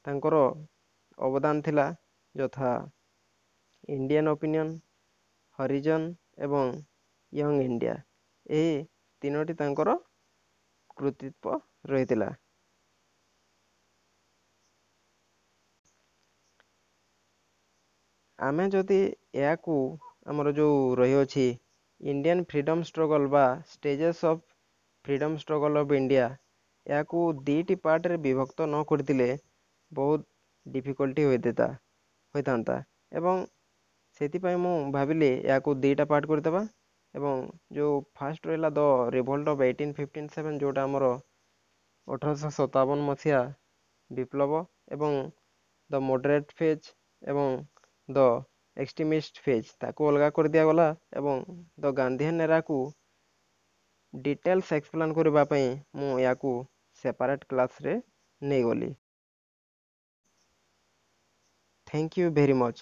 ତାଙ୍କର ଅବଦାନ ଥିଲା ଯଥା ଇଣ୍ଡିଆନ୍ ଓପିନିଅନ୍, ହରିଜନ ଏବଂ ୟଙ୍ଗ ଇଣ୍ଡିଆ, ଏହି ତିନୋଟି ତାଙ୍କର କୃତିତ୍ୱ ରହିଥିଲା। ଆମେ ଯଦି ଏହାକୁ ଆମର ଯେଉଁ ରହିଅଛି ଇଣ୍ଡିଆନ୍ ଫ୍ରିଡ଼ମ୍ ଷ୍ଟ୍ରଗଲ୍ ବା stages of freedom struggle of India, ଏହାକୁ ଦୁଇଟି ପାର୍ଟରେ ବିଭକ୍ତ ନ କରିଥିଲେ ବହୁତ ଡିଫିକଲ୍ଟି ହୋଇଥାନ୍ତା ହୋଇଥାନ୍ତା ଏବଂ ସେଥିପାଇଁ ମୁଁ ଭାବିଲି ଏହାକୁ ଦୁଇଟା ପାର୍ଟ କରିଦେବା। ଏବଂ ଯେଉଁ ଫାଷ୍ଟ ରହିଲା the revolt of eighteen fifteen seven, ଯେଉଁଟା ଆମର ଅଠରଶହ ସତାବନ ମସିହା ବିପ୍ଳବ, ଏବଂ ଦ ମଡରେଟ୍ ଫେଜ୍ ଏବଂ ଦ ଏକ୍ସଟ୍ରିମିଷ୍ଟ ଫେଜ୍, ତାକୁ ଅଲଗା କରିଦିଆଗଲା। ଏବଂ ଦ ଗାନ୍ଧିଆନ୍ ଏରାକୁ ଡିଟେଲ୍ସ ଏକ୍ସପ୍ଲେନ୍ କରିବା ପାଇଁ ମୁଁ ଏହାକୁ ସେପାରେଟ୍ କ୍ଲାସ୍ରେ ନେଇଗଲି। Thank you very much.